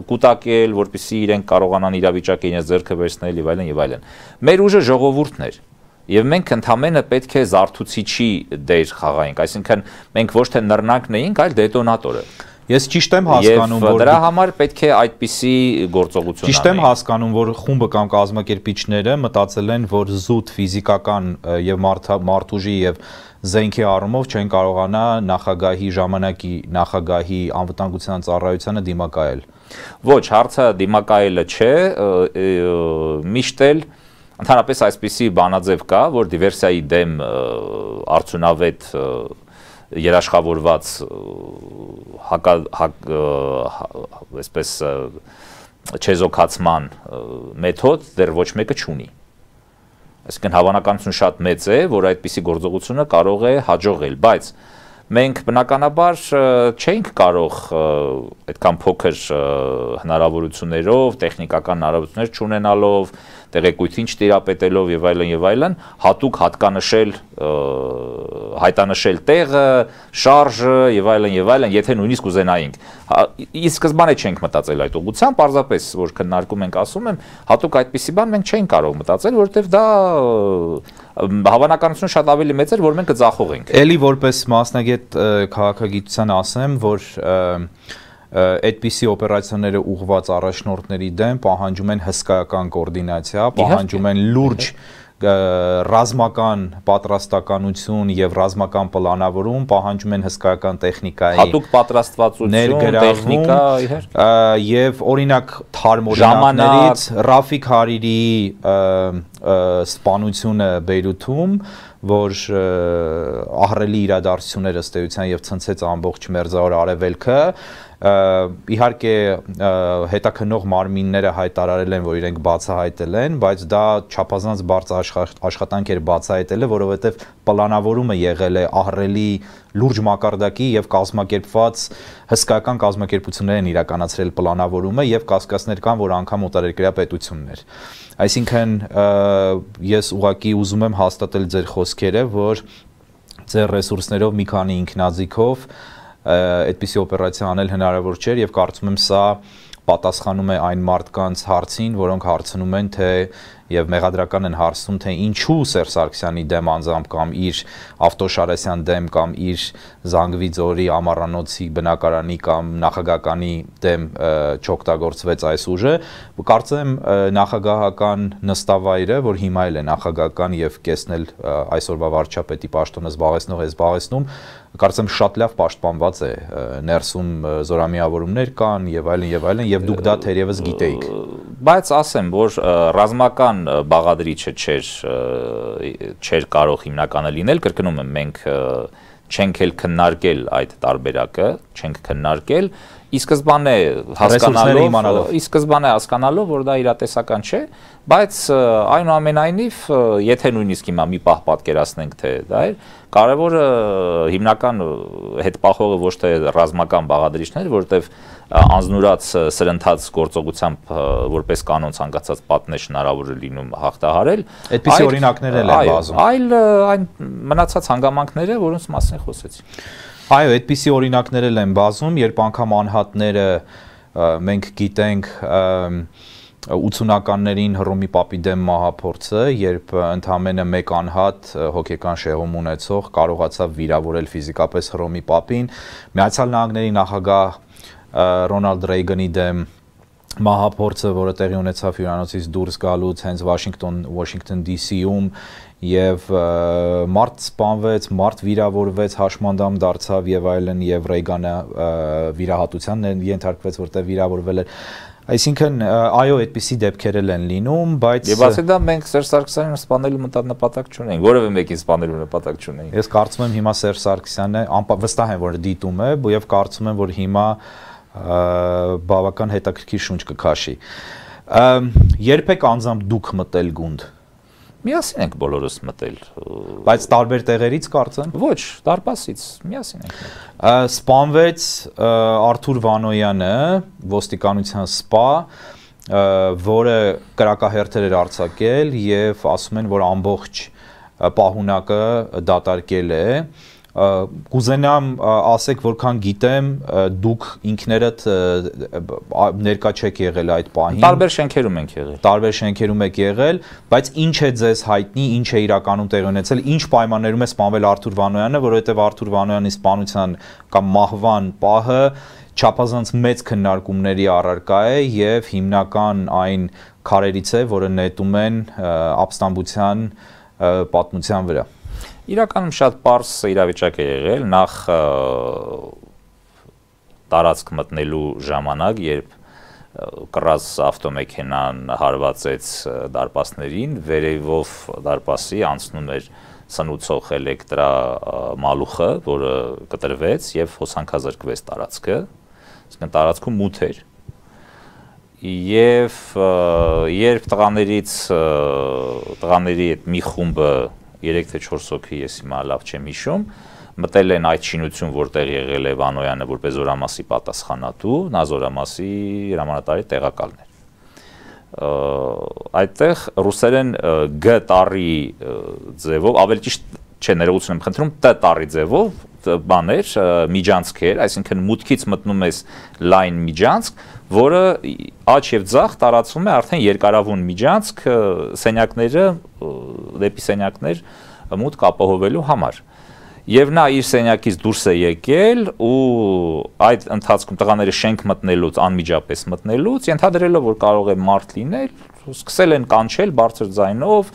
կուտակել, որպեսզի իրենք կարողանան իրավիճակը իրենց ձեռքը վերցնել եւ այլն եւ այլն։ Մեր ուժը ժողովուրդն էր եւ մենք ընդամենը պետք է զարթուցիչի դեր խաղայինք, այսինքն մենք ոչ թե նռնակն էինք, այլ դետոնատորը։ Ես ճիշտ եմ հասկանում, որ դրա համար պետք է այդպիսի գործողություն անել։ Ճիշտ եմ հասկանում, որ խումբը կամ կազմակերպիչները մտածել են, որ զուտ ֆիզիկական եւ մարդուժի եւ զենքի առումով չեն կարողանա նախագահի ժամանակի նախագահի անվտանգության ծառայությանը դիմակայել։ Ոչ, հարցը դիմակայելը չէ, միշտ էլ ընդհանրապես այսպիսի բանաձև կա, որ դիվերսիայի դեմ արդյունավետ երաշխավորված այսպես չեզոքացման մեթոդ դեռ ոչ մեկը չունի։ Այսինքն հավանականություն շատ մեծ է, որ այդպիսի գործողությունը կարող է հաջողել, բայց մենք բնականաբար չէինք կարող այդքան փոքր հնարավորություններով, տեխնիկական հնարավորություններ չունենալով, տեղեկույթին չտիրապետելով եւ այլն, հատուկ հատկանշել, հայտանշել տեղը, շարժը եւ այլն, եթե նույնիսկ ուզենայինք։ Իսկ սկզբանե չենք մտածել այդ ուղղությամբ, պարզապես որ քննարկում ենք, ասում եմ, հատուկ այդպիսի բան մենք չէինք կարող մտածել, որովհետեւ դա հավանականությունը շատ ավելի մեծ էր, որ մենք կձախողենք։ Էլի որպես մասնագետ քաղաքագիտության ասեմ, որ այդպիսի օպերացիաները ուղղված առաջնորդների դեմ պահանջում են հսկայական կոորդինացիա, պահանջում են լուրջ ռազմական պատրաստականություն եւ ռազմական պլանավորում, պահանջում են հսկայական տեխնիկայի հատուկ պատրաստվածություն, տեխնիկա, եւ օրինակ թարմ օրինակներից Ռաֆիկ Հարիրիի սպանությունը Բեյրութում, որ ահռելի իրադարձություններ ըստ էության եւ ցնցեց ամբողջ մերձավոր արևելքը, իհարկե հետաքննող մարմինները հայտարարել են, որ իրենք բացահայտել են, բայց դա չափազանց բարձր աշխատանք էր բացահայտելը, որովհետև պլանավորումը եղել է ահռելի լուրջ մակարդակի եւ կազմակերպված հսկայական կազմակերպություններ են իրականացրել պլանավորումը եւ կասկածներ կան, որ անգամ օտարերկրյա պետություններ։ Այսինքն ես ուղղակի ուզում եմ հաստատել ձեր խոսքերը, որ ձեր ռեսուրսներով մի քանի ինքնաձիգով այդպիսի օպերացիա անել հնարավոր չէր եւ կարծում եմ սա պատասխանում է այն մարդկանց հարցին, որոնք հարցնում են, թե եւ մեղադրական են հարցնում, թե ինչու Սերժ Սարգսյանի դեմ անձամբ կամ իր Ավտոշարասյան դեմ կամ իր Զանգվի ձորի ամառանոցի բնակարանի կամ նախագահականի դեմ չօգտագործվեց այս ուժը։ Կարծեմ նախագահական նստավայրը, որ հիմա էլ է նախագահական եւ կեսնել այսօրվա վարչապետի պաշտոնը զբաղեցնում, կարծեմ շատ լավ պաշտպանված է, ներսում զորամիավորումներ կան եւ այլն եւ դուք դա թերևս գիտեիք։ Բայց ասեմ, որ ռազմական բաղադրիչը չէր կարող հիմնականը լինել, կրկնում եմ, մենք չենք էլ քննարկել այդ տարբերակը, չենք քննարկել, ի սկզբանե հասկանալով, որ դա իրատեսական չէ, բայց այնուամենայնիվ, եթե նույնիսկ հիմա մի պահ պատկերացնենք, թե դա էր, կարևորը հիմնական հետպախողը ոչ թե ռազմական բաղադրիչներ, որտեղ անձնուրաց սրընթաց գործողությամբ որպես կանոն ցանկացած պատնեշ հնարավոր է լինում հաղթահարել, այդպիսի օրինակներ են բազում, այլ այն մնացած հանգամանքները, որոնց մասին խոսեցի։ Այո, այդպիսի օրինակներ են բազում, երբ անգամ անհատները մենք գիտենք 80-ականներին Հռոմի Պապի դեմ մահափորձը, երբ ընդամենը մեկ անհատ հոգեկան շեղում ունեցող կարողացավ վիրավորել ֆիզիկապես Հռոմի Պապին, Միացյալ Նահանգների նախագահ Ռոնալդ Ռեյգանի դեմ մահափորձը, որը տեղի ունեցավ հյուրանոցից դուրս գալուց հենց Վաշինգտոն DC-ում եւ մարդ սպանվեց, մարդ վիրավորվեց, հաշմանդամ դարձավ եւ այլն եւ Ռեյգանը վիրահատության ենթարկվեց, որտեղ վիրավորվել էր։ Այսինքն այո, այդպիսի դեպքեր են լինում, բայց եւ ասել դա մենք Սերժ Սարգսյանին սպանելու նպատակ չունենք, որևէ մեկին սպանելու նպատակ չունենք։ Ես կարծում եմ հիմա Սերժ Սարգսյանը վստահ եմ, որ դիտում է եւ կարծում եմ, որ հիմա բավական հետաքրքիր շունչ կքաշի։ Երբեք անձամբ դուք մտել գունդ։ Միասին ենք բոլորս մտել։ Բայց տարբեր տեղերից կարծեմ։ Ոչ, դարպասից միասին ենք մտել։ Սպանվեց Արթուր Վանոյանը, ոստիկանության սպա, որը կրակահերթեր էր արձակել եւ ասում են, որ ամբողջ պահունակը դատարկել է։ Կուզենամ ասեք, որքան գիտեմ, դուք ինքներդ ներկա չեք եղել այդ պահին։ Տարբեր շենքերում ենք եղել։ Տարբեր շենքերում եք եղել, բայց ինչ է ձեզ հայտնի, ինչ է իրականում տեղի ունեցել, ինչ պայմաններում է սպանվել Արթուր Վանոյանը, որովհետև Արթուր Վանոյանի սպանության կամ մահվան պահը չափազանց մեծ քննարկումների առարկա է եւ հիմնական այն քարերից է, որը նետում են ապստամբության պատմության վրա։ Իրականում շատ պարզ իրավիճակ է եղել, նախ տարածք մտնելու ժամանակ, երբ կռած ավտոմեքենան հարվածեց դարպասներին, վերևով դարպասի անցնում էր սնուցող էլեկտրա մալուխը, որը կտրվեց եւ հոսանքազրկվեց տարածքը, այսինքն տարածքում մութ էր։ Եվ երբ տղաների այդ մի խումբը 3 թե 4 հոգի, ես հիմա լավ չեմ հիշում, մտել են այդ շինություն, որտեղ եղել է Վանոյանը որպես զորամասի պատասխանատու, նա զորամասի հրամանատարի տեղակալն էր։ Այդտեղ ռուսերեն G տառի ձևով, ավելի ճիշտ չէ, ներողություն եմ խնդրում, T տառի ձևով բաներ, միջանցքեր, այսինքն մուտքից մտնում ես լայն միջանցք, որը աջ եւ ձախ տարածվում է արդեն երկարավուն միջանցք սենյակները դեպի սենյակներ մուտք ապահովելու համար։ Եվ նա իր սենյակից դուրս է եկել ու այդ ընթացքում տղաները շենք մտնելուց, անմիջապես մտնելուց, ենթադրելով, որ կարող է մարդ լինել, սկսել են կանչել բարձր ձայնով,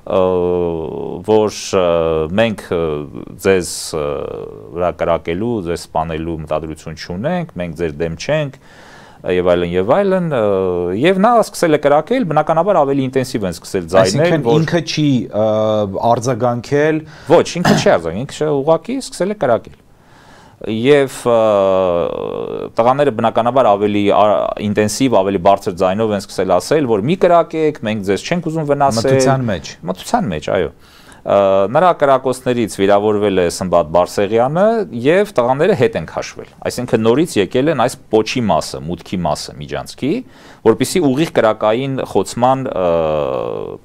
որ մենք ձեզ վրա կրակելու, ձեզ սպանելու մտադրություն չունենք, մենք ձեր դեմ չենք եւ այլն եւ նա սկսել է կրակել, բնականաբար ավելի ինտենսիվ են սկսել ձայնել, որ ինքը չի արձագանքել, ոչ, ինքը չի արձագանքել, ինքը ուղղակի սկսել է կրակել։ Եվ տղաները բնականաբար ավելի ինտենսիվ, ավելի բարձր ձայնով են սկսել ասել, որ մի կրակեք, մենք ձեզ չենք ուզում վնասել։ Մթության մեջ, այո։ Նրա կրակոցներից վիրավորվել է Սմբատ Բարսեղյանը եւ տղաները հետ են քաշվել։ Այսինքն նորից եկել են այս պոչի մասը, մուտքի մասը միջանցքի, որպեսզի ուղիղ կրակային խոցման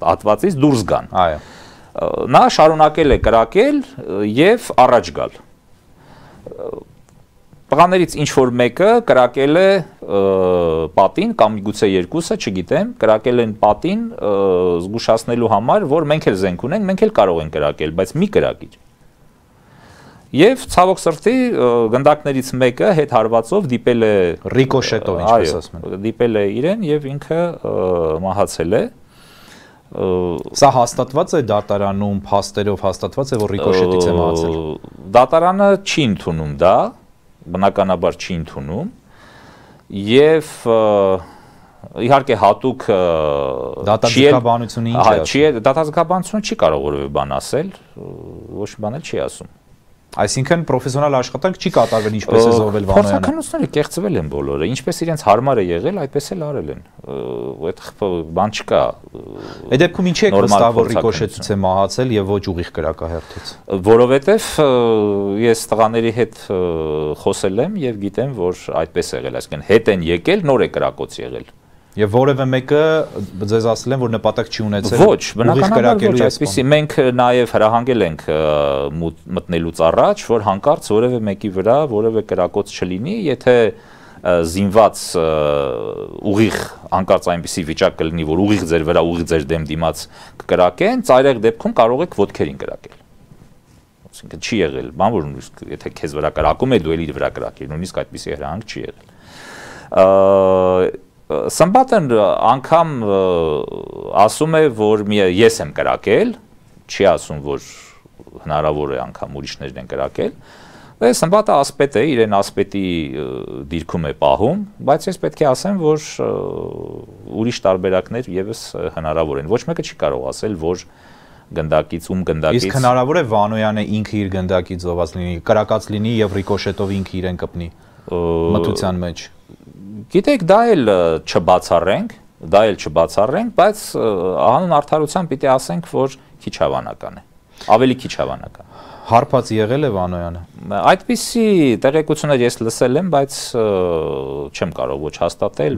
հատվածից դուրս գան։ Այո։ Նա շարունակել է կրակել եւ առաջ գալ։ Տղաներից ինչ որ մեկը կրակել է պատին կամ միգուցե երկուսը, չգիտեմ, կրակել են պատին զգուշացնելու համար, որ մենք էլ զենք ունենք, մենք էլ կարող ենք կրակել, բայց մի կրակիր։ Եվ ցավոք սրտի գնդակներից մեկը հետ հարվածով դիպել է ռիկոշետով, ինչպես ասում են։ Դիպել է իրեն եւ ինքը մահացել է։ Սա հաստատված է դատարանում, փաստերով հաստատված է, որ ռիկոշետից է մահացել։ Դատարանը չի ընդունում դա, բնականաբար չի ընդունում եւ իհարկե հատուկ դատազգաբանությունը ինչ է։ Դատազգաբանությունը չի կարող որևէ բան ասել, ոչ մի բան էլ չի ասում։ Այսինքն պրոֆեսիոնալ աշխատանք չի կատարվել ինչպես է զոհվել Վանոյանը։ Փորձականությունները կեղծվել են բոլորը, ինչպես իրենց հարմար է եղել, այդպես էլ արել են։ Այդ բան չկա։ Այդ դեպքում ինչի եք վստահ, որ ռիկոշետից է մահացել եւ ոչ ուղիղ կրակահերթից։ Որովհետեւ ես տղաների հետ խոսել եմ եւ գիտեմ, որ այդպես է եղել, այսինքն հետ են եկել, նոր է կրակոց եղել։ Եվ որևէ մեկը ձեզ ասել են, որ նպատակ չի ունեցել։ Ոչ, բնականաբար ոչ, այսպեսի մենք նաև հրահանգել ենք մտնելուց առաջ, որ հանկարծ որևէ մեկի վրա որևէ կրակոց չլինի, եթե զինված ուղիղ հանկարծ այնպիսի վիճակ կլինի, որ ուղիղ ձեր վրա, ուղիղ ձեր դեմ դիմաց կկրակեն, ծայրահեղ դեպքում կարող եք ոտքերին կրակել։ Այսինքն չի եղել, բան որ եթե քեզ վրա կրակում է, դու էլ իր վրա կրակիր, նույնիսկ այդպիսի հրահանգ չի եղել։ Սմբատն անգամ ասում է, որ ես եմ կրակել, չի ասում, որ հնարավոր է անգամ ուրիշներն են կրակել, Սմբատը ասպետ է, իրեն ասպետի դիրքում է պահում, բայց ես պետք է ասեմ, որ ուրիշ տարբերակներ եւս հնարավոր են, ոչ մեկը չի կարող ասել, որ գնդակից գնդակից։ Իսկ հնարավոր է Վանոյանը ինքը իր գնդակից զոհված լինի, կրակած լինի եւ ռիկոշետով ինքը իրեն կպնի մթության մեջ։ Գիտեք, դա էլ չբացառենք, բայց հանուն արդարության պիտի ասենք, որ քիչ հավանական է, ավելի քիչ հավանական։ Հարբած եղել է Վանոյանը։ Այդպիսի տեղեկություններ ես լսել եմ, բայց չեմ կարող ոչ հաստատել,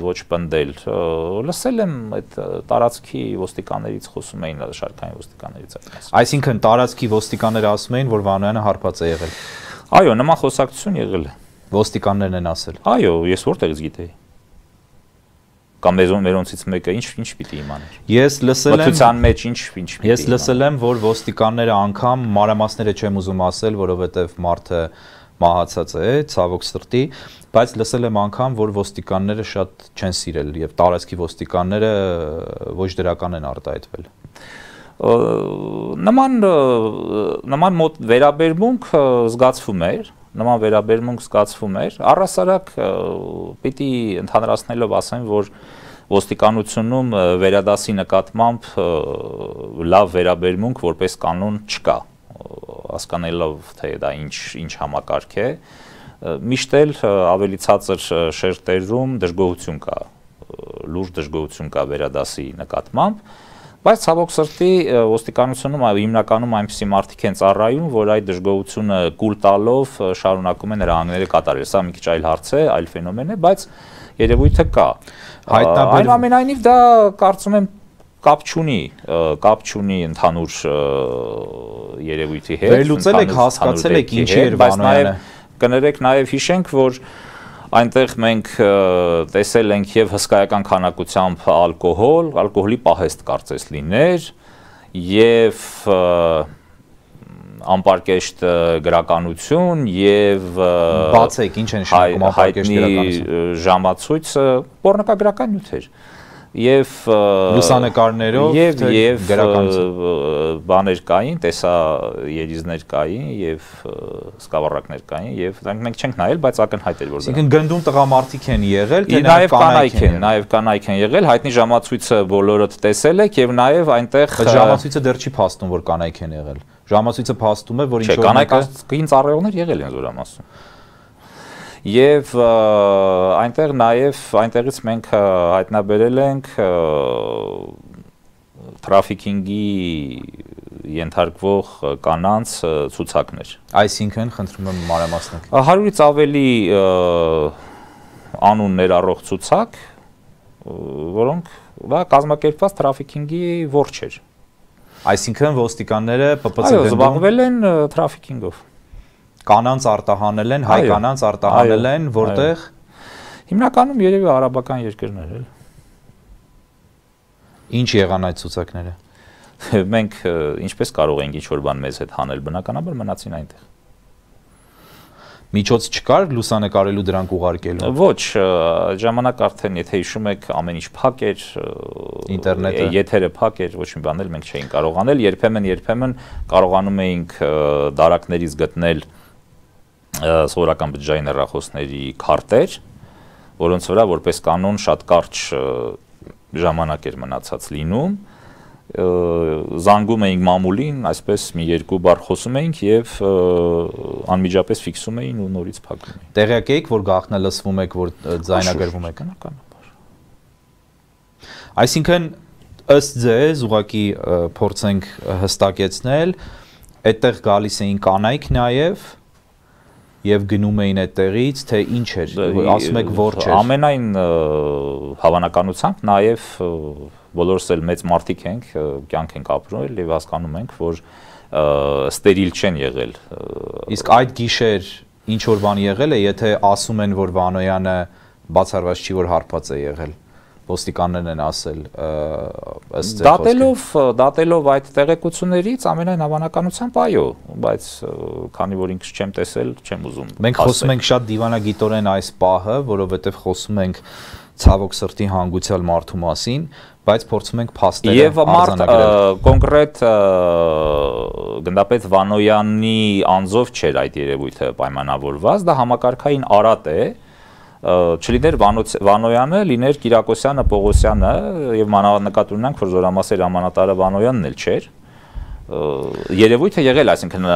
ոչ պնդել։ Լսել եմ այդ տարածքի ոստիկաններից խոսում էին, շարքային ոստիկաններից այդպես։ Այսինքն տարածքի ոստիկանները ասում էին, որ Վանոյանը հարբած է եղել։ Այո, նման խոսակցություն եղել է։ Ոստիկաններն են ասել։ Այո, ես որտեղից գիտեի։ Կամ մերոնցից մեկը ինչ պիտի իմաներ։ Ես լսել եմ մթության մեջ ինչ պիտի։ Ես լսել եմ, որ ոստիկանները անգամ մանրամասները չեմ ուզում ասել, որովհետև մարդը մահացած է, ցավոք սրտի, բայց լսել եմ անգամ, որ ոստիկանները շատ չեն սիրել եւ տարածքի ոստիկանները ոչ դրական են արտահայտվել։ Նման մոտ վերաբերմունք զգացվում էր, առհասարակ պիտի ընդհանրացնելով ասեմ, որ ոստիկանությունում վերադասի նկատմամբ լավ վերաբերմունք որպես կանոն չկա, հասկանալով թե դա ինչ համակարգ է, միշտ էլ ավելի ցածր շերտերում դժգոհություն կա, լուրջ դժգոհություն կա վերադասի նկատմամբ, բայց ցավոք սրտի ոստիկանությունում հիմնականում այնպիսի մարդիկ են ծառայում, որ այդ դժգոհությունը կուլ տալով շարունակում են հրահանգները կատարել։ Սա մի քիչ այլ հարց է, այլ ֆենոմեն է, բայց երևույթը կա։ Այնուամենայնիվ դա կարծում եմ կապ չունի ընդհանուր երևույթի հետ։ Վերլուծել եք, հասկացել եք ինչի էր Վանոյանը։ Կներեք նաև հիշենք, որ այնտեղ մենք տեսել ենք եւ հսկայական քանակությամբ ալկոհոլի պահեստ կարծես լիներ եւ անպարկեշտ գրականություն եւ բացեք ինչ են նշանակում անպարկեշտ գրականություն ժամացույցը պոռնոկագրական նյութեր եւ լուսանկարներով եւ բաներ կային, տեսաերիզներ կային եւ սկավառակներ կային եւ մենք չենք նայել, բայց ակնհայտ էր որ դա։ Այսինքն գնդում տղամարդիկ են եղել, թե նաեւ կանայք են եղել, հայտնի ժամացույցը բոլորդ տեսել եք եւ նաեւ այնտեղ ժամացույցը դեռ չի փաստում, որ կանայք են եղել։ Ժամացույցը փաստում է, որ ինչ որ կանայքին ծառայողներ եղել են Զորամասում։ Եվ այնտեղից մենք հայտնաբերել ենք թրաֆիքինգի ենթարկվող կանանց ցուցակներ։ Այսինքն, խնդրում եմ մանրամասնել։ 100-ից ավելի անուն ներառող ցուցակ, որոնք դա կազմակերպված թրաֆիքինգի ворջ էր։ Այսինքն ոստիկանները ՊՊՑ-ում զբաղվել են թրաֆիքինգով։ Կանանց արտահանել են, հայ կանանց արտահանել են, որտեղ հիմնականում երևի արաբական երկրներ էլ։ Ինչ եղան այդ ցուցակները։ Մենք ինչպես կարող ենք ինչ-որ բան մեզ հետ հանել, բնականաբար մնացին այնտեղ։ Միջոց չկար լուսանկարելու դրանք ուղարկելու։ Ոչ, ժամանակ արդեն, եթե հիշում եք, ամեն ինչ փակ էր, ինտերնետը, եթերը փակ էր, ոչ մի բան էլ մենք չէինք կարող անել, երբեմն կարողանում էինք դարակներից գտնել սովորական բջջային հեռախոսների քարտեր, որոնց վրա որպես կանոն շատ կարճ ժամանակ էր մնացած լինում, զանգում էինք մամուլին, այսպես մի երկու բառ խոսում էինք եւ անմիջապես ֆիքսում էին ու նորից փակում էին։ Տեղյակ եք, որ գաղտնը լսվում եք, որ ձայնագրվում եք, բնականաբար։ Այսինքն ըստ ձեզ ուղղակի փորձենք հստակեցնել, այդտեղ գալիս էին կանայք նաեւ եւ գնում էին այդտեղից, թե ինչ էր, ասում եք ворջ էր։ Ամենայն հավանականությամբ նաեւ բոլորս էլ մեծ մարդիկ ենք, կյանք ենք ապրել եւ հասկանում ենք, որ ստերիլ չեն եղել։ Իսկ այդ գիշեր ինչ որ բան եղել է, եթե ասում են, որ Վանոյանը բացառված չի, որ հարբած է եղել։ Ոստիկաններն են ասել ըստ դատելով այդ տեղեկություններից ամենայն հավանականությամբ այո, բայց քանի որ ինքս չեմ տեսել, չեմ ուզում։ Մենք խոսում ենք շատ դիվանագիտորեն այս պահը, որովհետև խոսում ենք ցավոք սրտի հանգուցյալ մարդու մասին, բայց փորձում ենք փաստերը արձանագրել։ Եվ կոնկրետ գնդապետ Վանոյանի անձով չէր այդ երևույթը պայմանավորված, դա համակարգային արատ է, չլիներ Վանոյանը, լիներ Կիրակոսյանը, Պողոսյանը եւ մանավանդ ունենք, որ Զորամասեր ամանատարը Վանոյանն էլ չէր։ Երևույթը եղել, այսինքն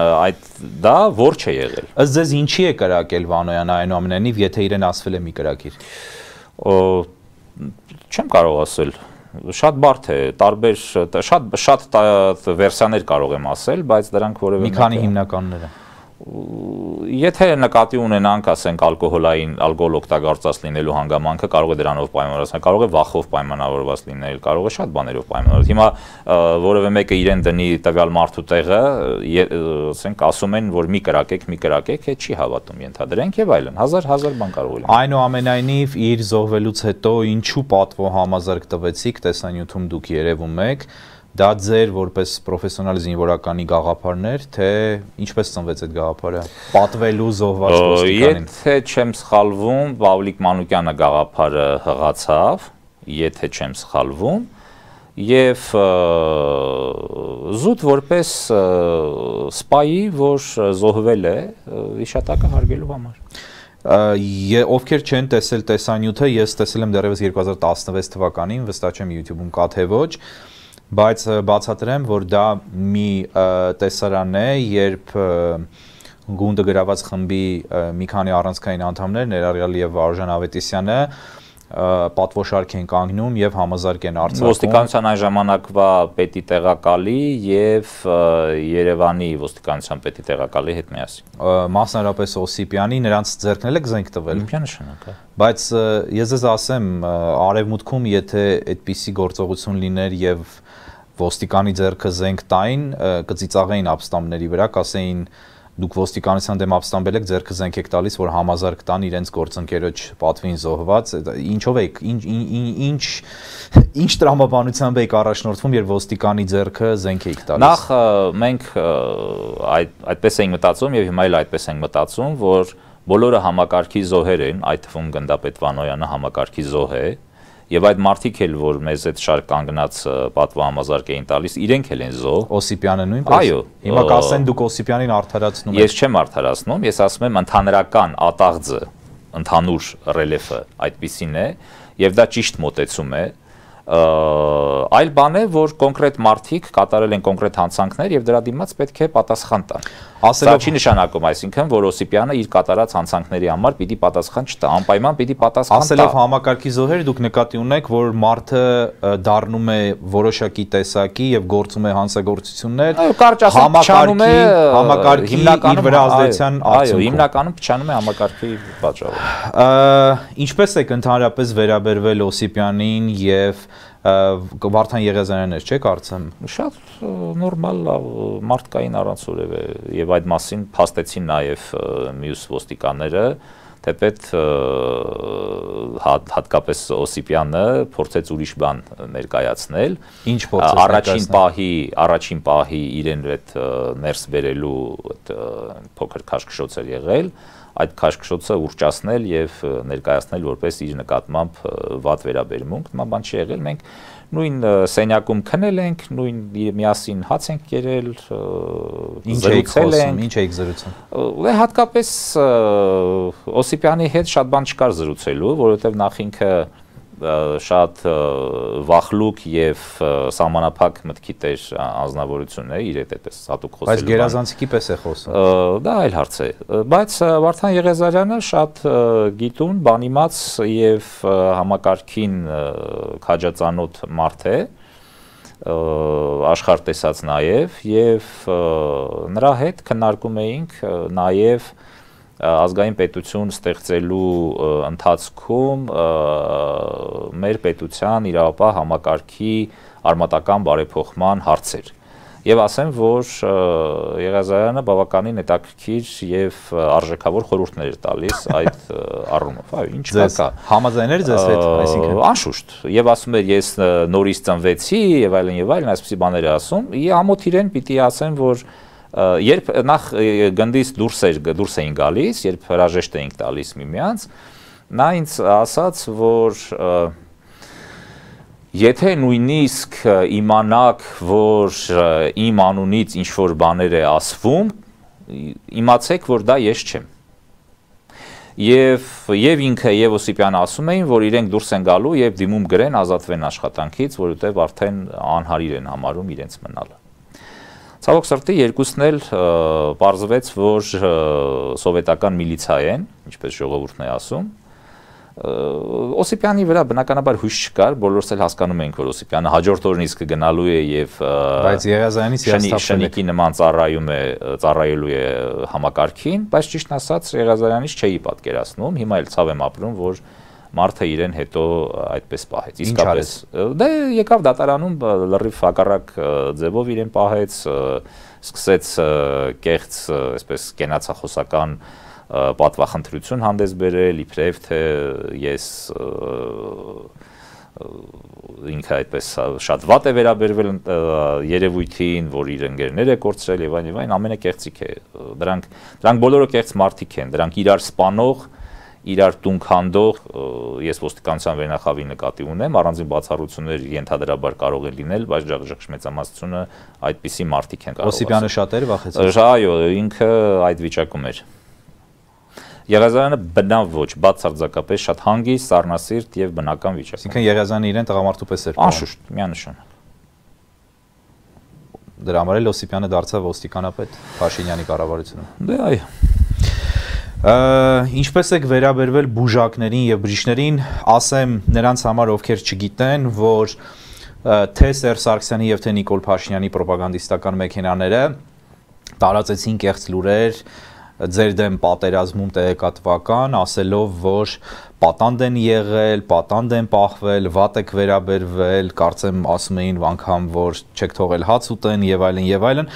դա ворջ է եղել։ Ըստ ձեզ ինչի է կրակել Վանոյանը այնուամենայնիվ, եթե իրեն ասվել է մի կրակիր։ Չեմ կարող ասել։ Շատ բարդ է, տարբեր շատ վերսիաներ կարող եմ ասել, բայց դրանք որևէ մի քանի հիմնականները։ Եթե նկատի ունենանք, ասենք ալկոհոլ օգտագործած լինելու հանգամանքը, կարող է դրանով պայմանավորված, կարող է վախով պայմանավորված լինել, կարող է շատ բաներով պայմանավորված։ Հիմա որևէ մեկը իրեն դնի տվյալ մարդու տեղը, ասենք ասում են, որ մի կրակեք, հետ չի հավատում, ենթադրենք եւ այլն, հազար բան կարող է լինել։ Այնուամենայնիվ իր զոհվելուց հետո ինչու պատվո համազարգ տվեցիք, տեսանյութում դուք երևում եք, դա ձեր որպես պրոֆեսիոնալ զինվորականի գաղափարներ, թե ինչպես ծնվեց այդ գաղափարը, պատվելու զոհված ոստիկանին։ Եթե չեմ սխալվում, Պավլիկ Մանուկյանը գաղափարը հղացավ, եթե չեմ սխալվում, եւ զուտ որպես սպայի, որ զոհվել է հիշատակը հարգելու համար։ Ովքեր չեն տեսել տեսանյութը, ես տեսել եմ դեռևս 2016 թվականին, վստահ չեմ YouTube-ում կա թե ոչ, բայց բացատրեմ, որ դա մի տեսարան է, երբ գունդը գրաված խմբի մի քանի առանցքային անդամներ, ներառյալ եւ Վարուժան Ավետիսյանը, պատվոշարք են կանգնում եւ համազարգ են արձակում։ Ոստիկանության այն ժամանակվա պետի տեղակալի եւ Երևանի ոստիկանության պետի տեղակալի հետ միասին։ Մասնարարապես Օսիպյանի, նրանց ձեռքն էլ եք զենք տվել։ Միանշանակ է։ Բայց ես ձեզ ասեմ, արևմուտքում եթե այդպիսի գործողություն լիներ եւ ոստիկանի ձեռքը զենք տային, կծիծաղեին ապստամբների վրա, կասեին դուք ոստիկանության դեմ ապստամբել եք, ձեռքը զենք եք տալիս, որ համազարգ տան իրենց գործընկերոջ պատվին զոհված, ինչով եք, ինչ տրամաբանությամբ եք առաջնորդվում, երբ ոստիկանի ձեռքը զենք եք տալիս։ Նախ մենք այդպես ենք մտածում եւ հիմա էլ այդպես ենք մտածում, որ բոլորը համակարգի զոհեր են, այդ թվում գնդապետ Վանոյանը համակարգի զոհ է, եւ այդ մարդիկ էլ, որ մեզ այդ շարք կանգնած պատվո համազարգ էին տալիս, իրենք էլ են զոհ։ Օսիպյանը նույնպես։ Այո։ Հիմա կասեն դուք Օսիպյանին արդարացնում եք։ Ես չեմ արդարացնում, ես ասում եմ ընդհանրական ատաղձը, ընդհանուր ռելիեֆը այդպիսին է, եւ դա ճիշտ մոտեցում է, Այլ բան է, որ կոնկրետ մարդիկ կատարել են կոնկրետ հանցանքներ եւ դրա դիմաց պետք է պատասխան տան։ Սա չի նշանակում, այսինքն, որ Օսիպյանը իր կատարած հանցանքների համար պիտի պատասխան չտա, անպայման պիտի պատասխան տա։ Ասելով համակարգի զոհեր, դուք նկատի ունեք, որ մարդը դառնում է որոշակի տեսակի եւ գործում է հանցագործություններ, համակարգի իր վրա ազդեցության արդյունքում։ Հիմնականում փչանում է համակարգի պատճառով։ Ինչպես եք ընդհանրապես վերաբերվել Օսիպյանին եւ Վարդան Եղիազարյանն չէ՞ կարծեմ։ Շատ նորմալ մարդկային առանց որևէ եւ այդ մասին փաստեցին նաեւ մյուս ոստիկանները, թեպետ հատկապես Օսիպյանը փորձեց ուրիշ բան ներկայացնել։ Ինչ փորձեց առաջին պահի իրեն այդ ներս բերելու փոքր քաշքշոց էր եղել, այդ քաշքշոցը ուռճացնել եւ ներկայացնել որպես իր նկատմամբ վատ վերաբերմունք, նման բան չի եղել, մենք նույն սենյակում քնել ենք, նույն միասին հաց ենք կերել, զրուցել ենք, ինչ էիք զրուցում։ Հատկապես Օսիպյանի հետ շատ բան չկար զրուցելու, որովհետեւ նախ ինքը շատ վախլուկ եւ սահմանափակ մտքի տեր անձնավորություն է, իր հետ էպես հատուկ խոսելու։ Բայց գերազանցիկի պես է խոսում։ Դա այլ հարց է։ Բայց Վարդան Եղիազարյանը շատ գիտուն, բանիմաց եւ համակարգին քաջածանոթ մարդ է, աշխարհ տեսած նաեւ եւ նրա հետ քննարկում էինք նաեւ ազգային պետություն ստեղծելու ընթացքում մեր պետության իրավապահ համակարգի արմատական բարեփոխման հարցեր։ Եվ ասեմ, որ Եղիազարյանը բավականին հետաքրքիր եւ արժեքավոր խորհուրդներ էր տալիս այդ առումով։ Այո, ինչ կա։ Համաձայներ ձեզ հետ, այսինքն անշուշտ։ Եւ ասում էր, ես նորից ծնվեցի եւ այլն, այսպիսի բաներ է ասում։ Ամոթ իրեն պիտի ասեմ, որ երբ նախ գնդից դուրս էին գալիս, երբ հրաժեշտ էինք տալիս միմյանց, նա ինձ ասաց, որ եթե նույնիսկ իմանաք, որ իմ անունից ինչ-որ բաներ է ասվում, իմացեք, որ դա ես չեմ։ Եվ ինքը եւ Օսիպյանը ասում էին, որ իրենք դուրս են գալու եւ դիմում գրեն ազատվեն աշխատանքից, որովհետեւ արդեն անհարիր են համարում իրենց մնալը։ Ցավոք սրտի երկուսն էլ պարզվեց, որ սովետական միլիցիա են, ինչպես ժողովուրդն է ասում։ Օսիպյանի վրա բնականաբար հույս չկար, բոլորս էլ հասկանում ենք, որ Օսիպյանը հաջորդ օրն իսկ գնալու է եւ բայց Եղիազարյանից շնիկի նման ծառայելու է համակարգին, բայց ճիշտն ասած Եղիազարյանից չէի պատկերացնում, հիմա էլ ցավ եմ ապրում, որ մարդը իրեն հետո այդպես պահեց։ Իսկապես դե եկավ դատարանում լրիվ հակառակ ձևով իրեն պահեց, սկսեց կեղծ, այսպես կենացախոսական պատվախնդրություն հանդես բերել, իբրև թե ես ինքը այդպես շատ վատ է վերաբերվել երևույթին, որ իր ընկերներ է կորցրել եւ այլն, ամենը կեղծիք է։ Դրանք բոլորը կեղծ մարդիկ են, դրանք իրար սպանող, իրար տուն քանդող, ես ոստիկանության վերնախավի նկատի ունեմ, առանձին բացառություններ ենթադրաբար կարող է լինել, բայց ժողովրդի մեծամասնությունը այդպիսի մարդիկ են կարող։ Օսիպյանը շատ էր վախեցել։ Այո, ինքը այդ վիճակում էր։ Եղիազարյանը բնավ ոչ, բացարձակապես շատ հանգիստ, սառնասիրտ եւ բնական վիճակում։ Այսինքն Եղիազարյանը իրեն տղամարդու պես էր։ Անշուշտ, միանշանակ։ Դրա համար էլ Օսիպյանը դարձավ ոստիկանապետ Փաշինյանի կառավարությունում։ Դե այո։ Ինչպես եք վերաբերվել բուժակներին եւ բժիշկներին, ասեմ նրանց համար, ովքեր չգիտեն, որ թե Սերժ Սարգսյանի եւ թե Նիկոլ Փաշինյանի ռոպագանդիստական մեքենաները տարածեցին կեղծ լուրեր ձեր դեմ պատերազմում տեղեկատվական, ասելով, որ պատանդ են եղել, պատանդ են պահվել, վատ եք վերաբերվել, կարծեմ ասում էին անգամ, որ չեք թողել հաց ուտեն եւ այլն,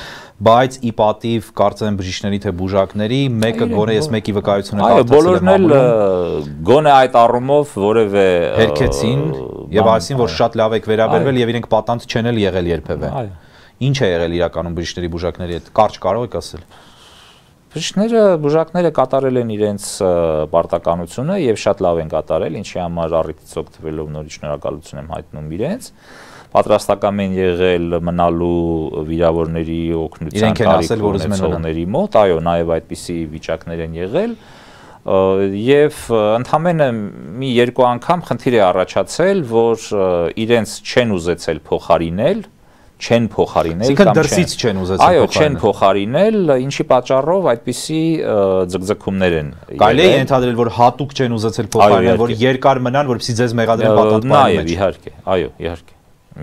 բայց ի պատիվ կարծեմ բժիշկների թե բուժակների, մեկը գոնե ես մեկի վկայությունը կարծացել եմ։ Այո, բոլորն էլ գոնե այդ առումով որևէ հերքեցին եւ ասին, որ շատ լավ եք վերաբերվել եւ իրենք պատանդ չեն էլ եղել երբևէ։ Ինչ է եղել իրականում բժիշկների բուժակների հետ։ Կարճ կարող եք ասել։ Բուժակները կատարել են իրենց պարտականությունը եւ շատ լավ են կատարել, ինչի համար առիթից օգտվելով նորից շնորհակալություն եմ հայտնում իրենց։ Պատրաստական են եղել մնալու վիրավորների օգնության իրենք են ասել, որ ուզում են մոտ, այո, նաեւ այդպիսի վիճակներ են եղել։ Եվ ընդամենը մի երկու անգամ խնդիր է առաջացել, որ իրենց չեն ուզեցել փոխարինել, չեն փոխարինել կամ դրսից չեն ուզեցել այո, չեն փոխարինել, ինչի պատճառով այդպիսի ձգձգումներ են։ Կարելի է ենթադրել, որ հատուկ չեն ուզեցել փոխարինել, որ երկար մնան, որպեսզի ձեզ մեղադրեն պատասխանատվի մեջ։ Իհարկե, այո, իհարկե,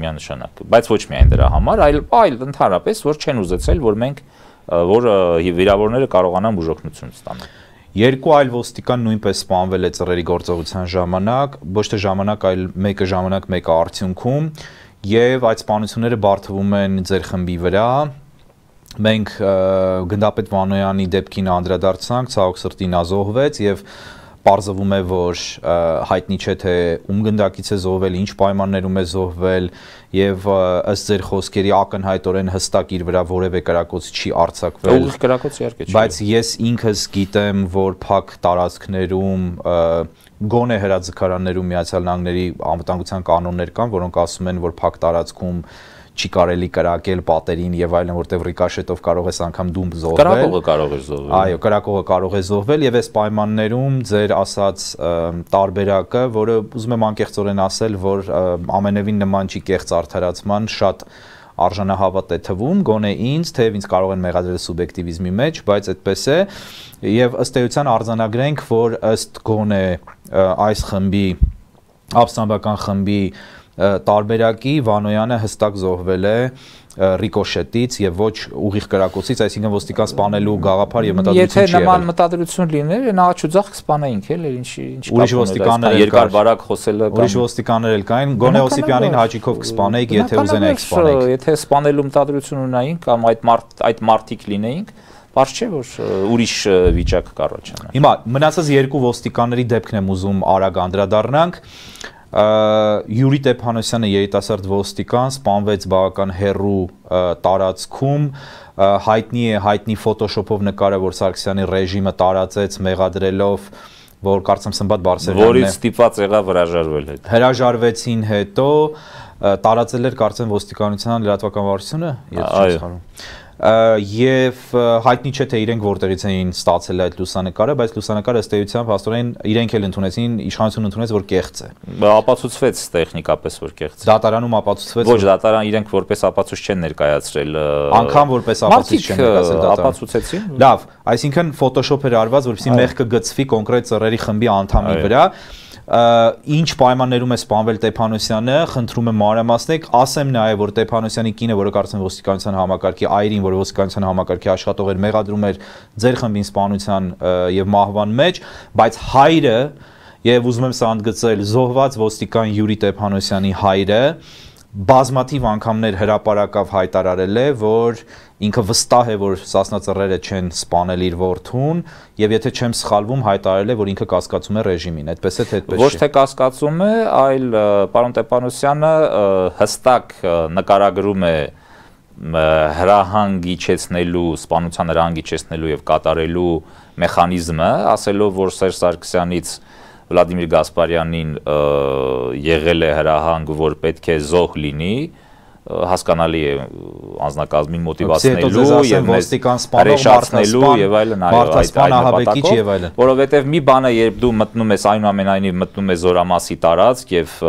միանշանակ, բայց ոչ միայն դրա համար, այլ ընդհանրապես, որ չեն ուզեցել, որ մենք որ վիրավորները կարողանան բուժօգնություն ստանալ։ Երկու այլ ոստիկան նույնպես սպանվել է ծռերի գործողության ժամանակ, ոչ թե ժամանակ, այլ մեկը ժամանակ, մեկը արդյունքում, եւ այդ սպանությունները բարթվում են ձեր խմբի վրա։ Մենք գնդապետ Վանոյանի դեպքին անդրադարձանք, ցավոք սրտի նա զոհվեց եւ պարզվում է, որ հայտնի չէ թե ում գնդակից է զոհվել, ինչ պայմաններում է զոհվել եւ ըստ ձեր խոսքերի ակնհայտորեն հստակ իր վրա որևէ կրակոց չի արձակվել։ Ուղիղ կրակոց իհարկե չի։ Բայց ես ինքս գիտեմ, որ փակ տարածքներում գոնե հրաձգարաններում Միացյալ Նահանգների անվտանգության կանոններ կան, որոնք ասում են, որ փակ տարածքում չի կարելի կրակել պատերին եւ այլն, որտեղ ռիկաշետով կարող ես անգամ դում զոհվել։ Կրակողը կարող է զոհվել։ Այո, կրակողը կարող է զոհվել եւ այս պայմաններում ձեր ասած տարբերակը, որը ուզում եմ անկեղծորեն ասել, որ ամենևին նման չի կեղծ արդարացման, շատ արժանահավատ է թվում, գոնե ինձ, թեև ինձ կարող են մեղադրել սուբյեկտիվիզմի մեջ, բայց այդպես է եւ ըստ էության արձանագրենք, որ ըստ գոնե այս խմբի ապստամբական խմբի տարբերակի Վանոյանը հստակ զոհվել է ռիկոշետից եւ ոչ ուղիղ կրակոցից, այսինքն ոստիկան սպանելու գաղափար եւ մտադրություն չի եղել։ Եթե նման մտադրություն լիներ, նախաչուձախ կսպանեինք էլ, ինչի ուրիշ ոստիկաններ երկար բարակ խոսելը կամ ուրիշ ոստիկաններ էլ կային, գոնե Օսիպյանին հաճիկով կսպանեիք, եթե ուզենայիք սպանեիք։ Եթե սպանելու մտադրություն ունայինք կամ այդ մարտիկ լինեինք, բարձ չէ որ ուրիշ վիճակ կառաջանա։ Հիմա մնացած երկու ոստիկանների դեպքն եմ ուզում արագ անդրադառնանք։ Յուրի Տեփանոսյանը երիտասարդ ոստիկան սպանվեց բավական հեռու տարածքում, հայտնի ֆոտոշոփով նկարը, որ Սարգսյանի ռեժիմը տարածեց մեղադրելով, որ կարծեմ Սմբատ Բարսեղյանն է։ Որից ստիպված եղավ հրաժարվել հետ։ Հրաժարվեցին հետո տարածել էր կարծեմ ոստիկանության լրատվական վարչությունը, եթե չեմ սխալվում։ Եվ հայտնի չէ թե իրենք որտեղից էին ստացել այդ լուսանկարը, բայց լուսանկարը ըստ էության փաստորեն իրենք էլ ընդունեցին, իշխանությունը ընդունեց, որ կեղծ է։ Ապացուցվեց տեխնիկապես, որ կեղծ է։ Դատարանում ապացուցվեց։ Ոչ, դատարան իրենք որպես ապացույց չեն ներկայացրել։ Անգամ որպես ապացույց չեն ներկայացրել դատարան։ Ապացուցեցին։ Լավ, այսինքն ֆոտոշոփ էր արված, որպեսզի մեղքը գծվի կոնկրետ ծռերի խմբի անդամի վրա։ Ինչ պայմաններում է սպանվել Տեփանոսյանը, խնդրում եմ մանրամասնեք, ասեմ նաև, որ Տեփանոսյանի կինը, որը կարծեմ ոստիկանության համակարգի այրին, որը ոստիկանության համակարգի աշխատող էր, մեղադրում էր ձեր խմբին սպանության եւ մահվան մեջ, բայց հայրը, եւ ուզում եմ սա ընդգծել, զոհված ոստիկան Յուրի Տեփանոսյանի հայրը բազմաթիվ անգամներ հրապարակավ հայտարարել է, որ ինքը վստահ է, որ Սասնա ծռերը չեն սպանել իր որդուն, եւ եթե չեմ սխալվում, հայտարարել է, որ ինքը կասկածում է ռեժիմին, այդպես է թե այդպես չէ։ Ոչ թե կասկածում է, այլ պարոն Տեփանոսյանը հստակ նկարագրում է հրահանգ իջեցնելու, սպանության հրահանգ իջեցնելու եւ կատարելու մեխանիզմը, ասելով, որ Սերժ Սարգսյանից Վլադիմիր Գասպարյանին եղել է հրահանգ, որ պետք է զոհ լինի, հասկանալի է անձնակազմին մոտիվացնելու եւ ոստիկան սպանելու եւ այլն, այո, որովհետեւ մի բանը երբ դու մտնում ես այնուամենայնիվ մտնում ես Զորամասի տարածք եւ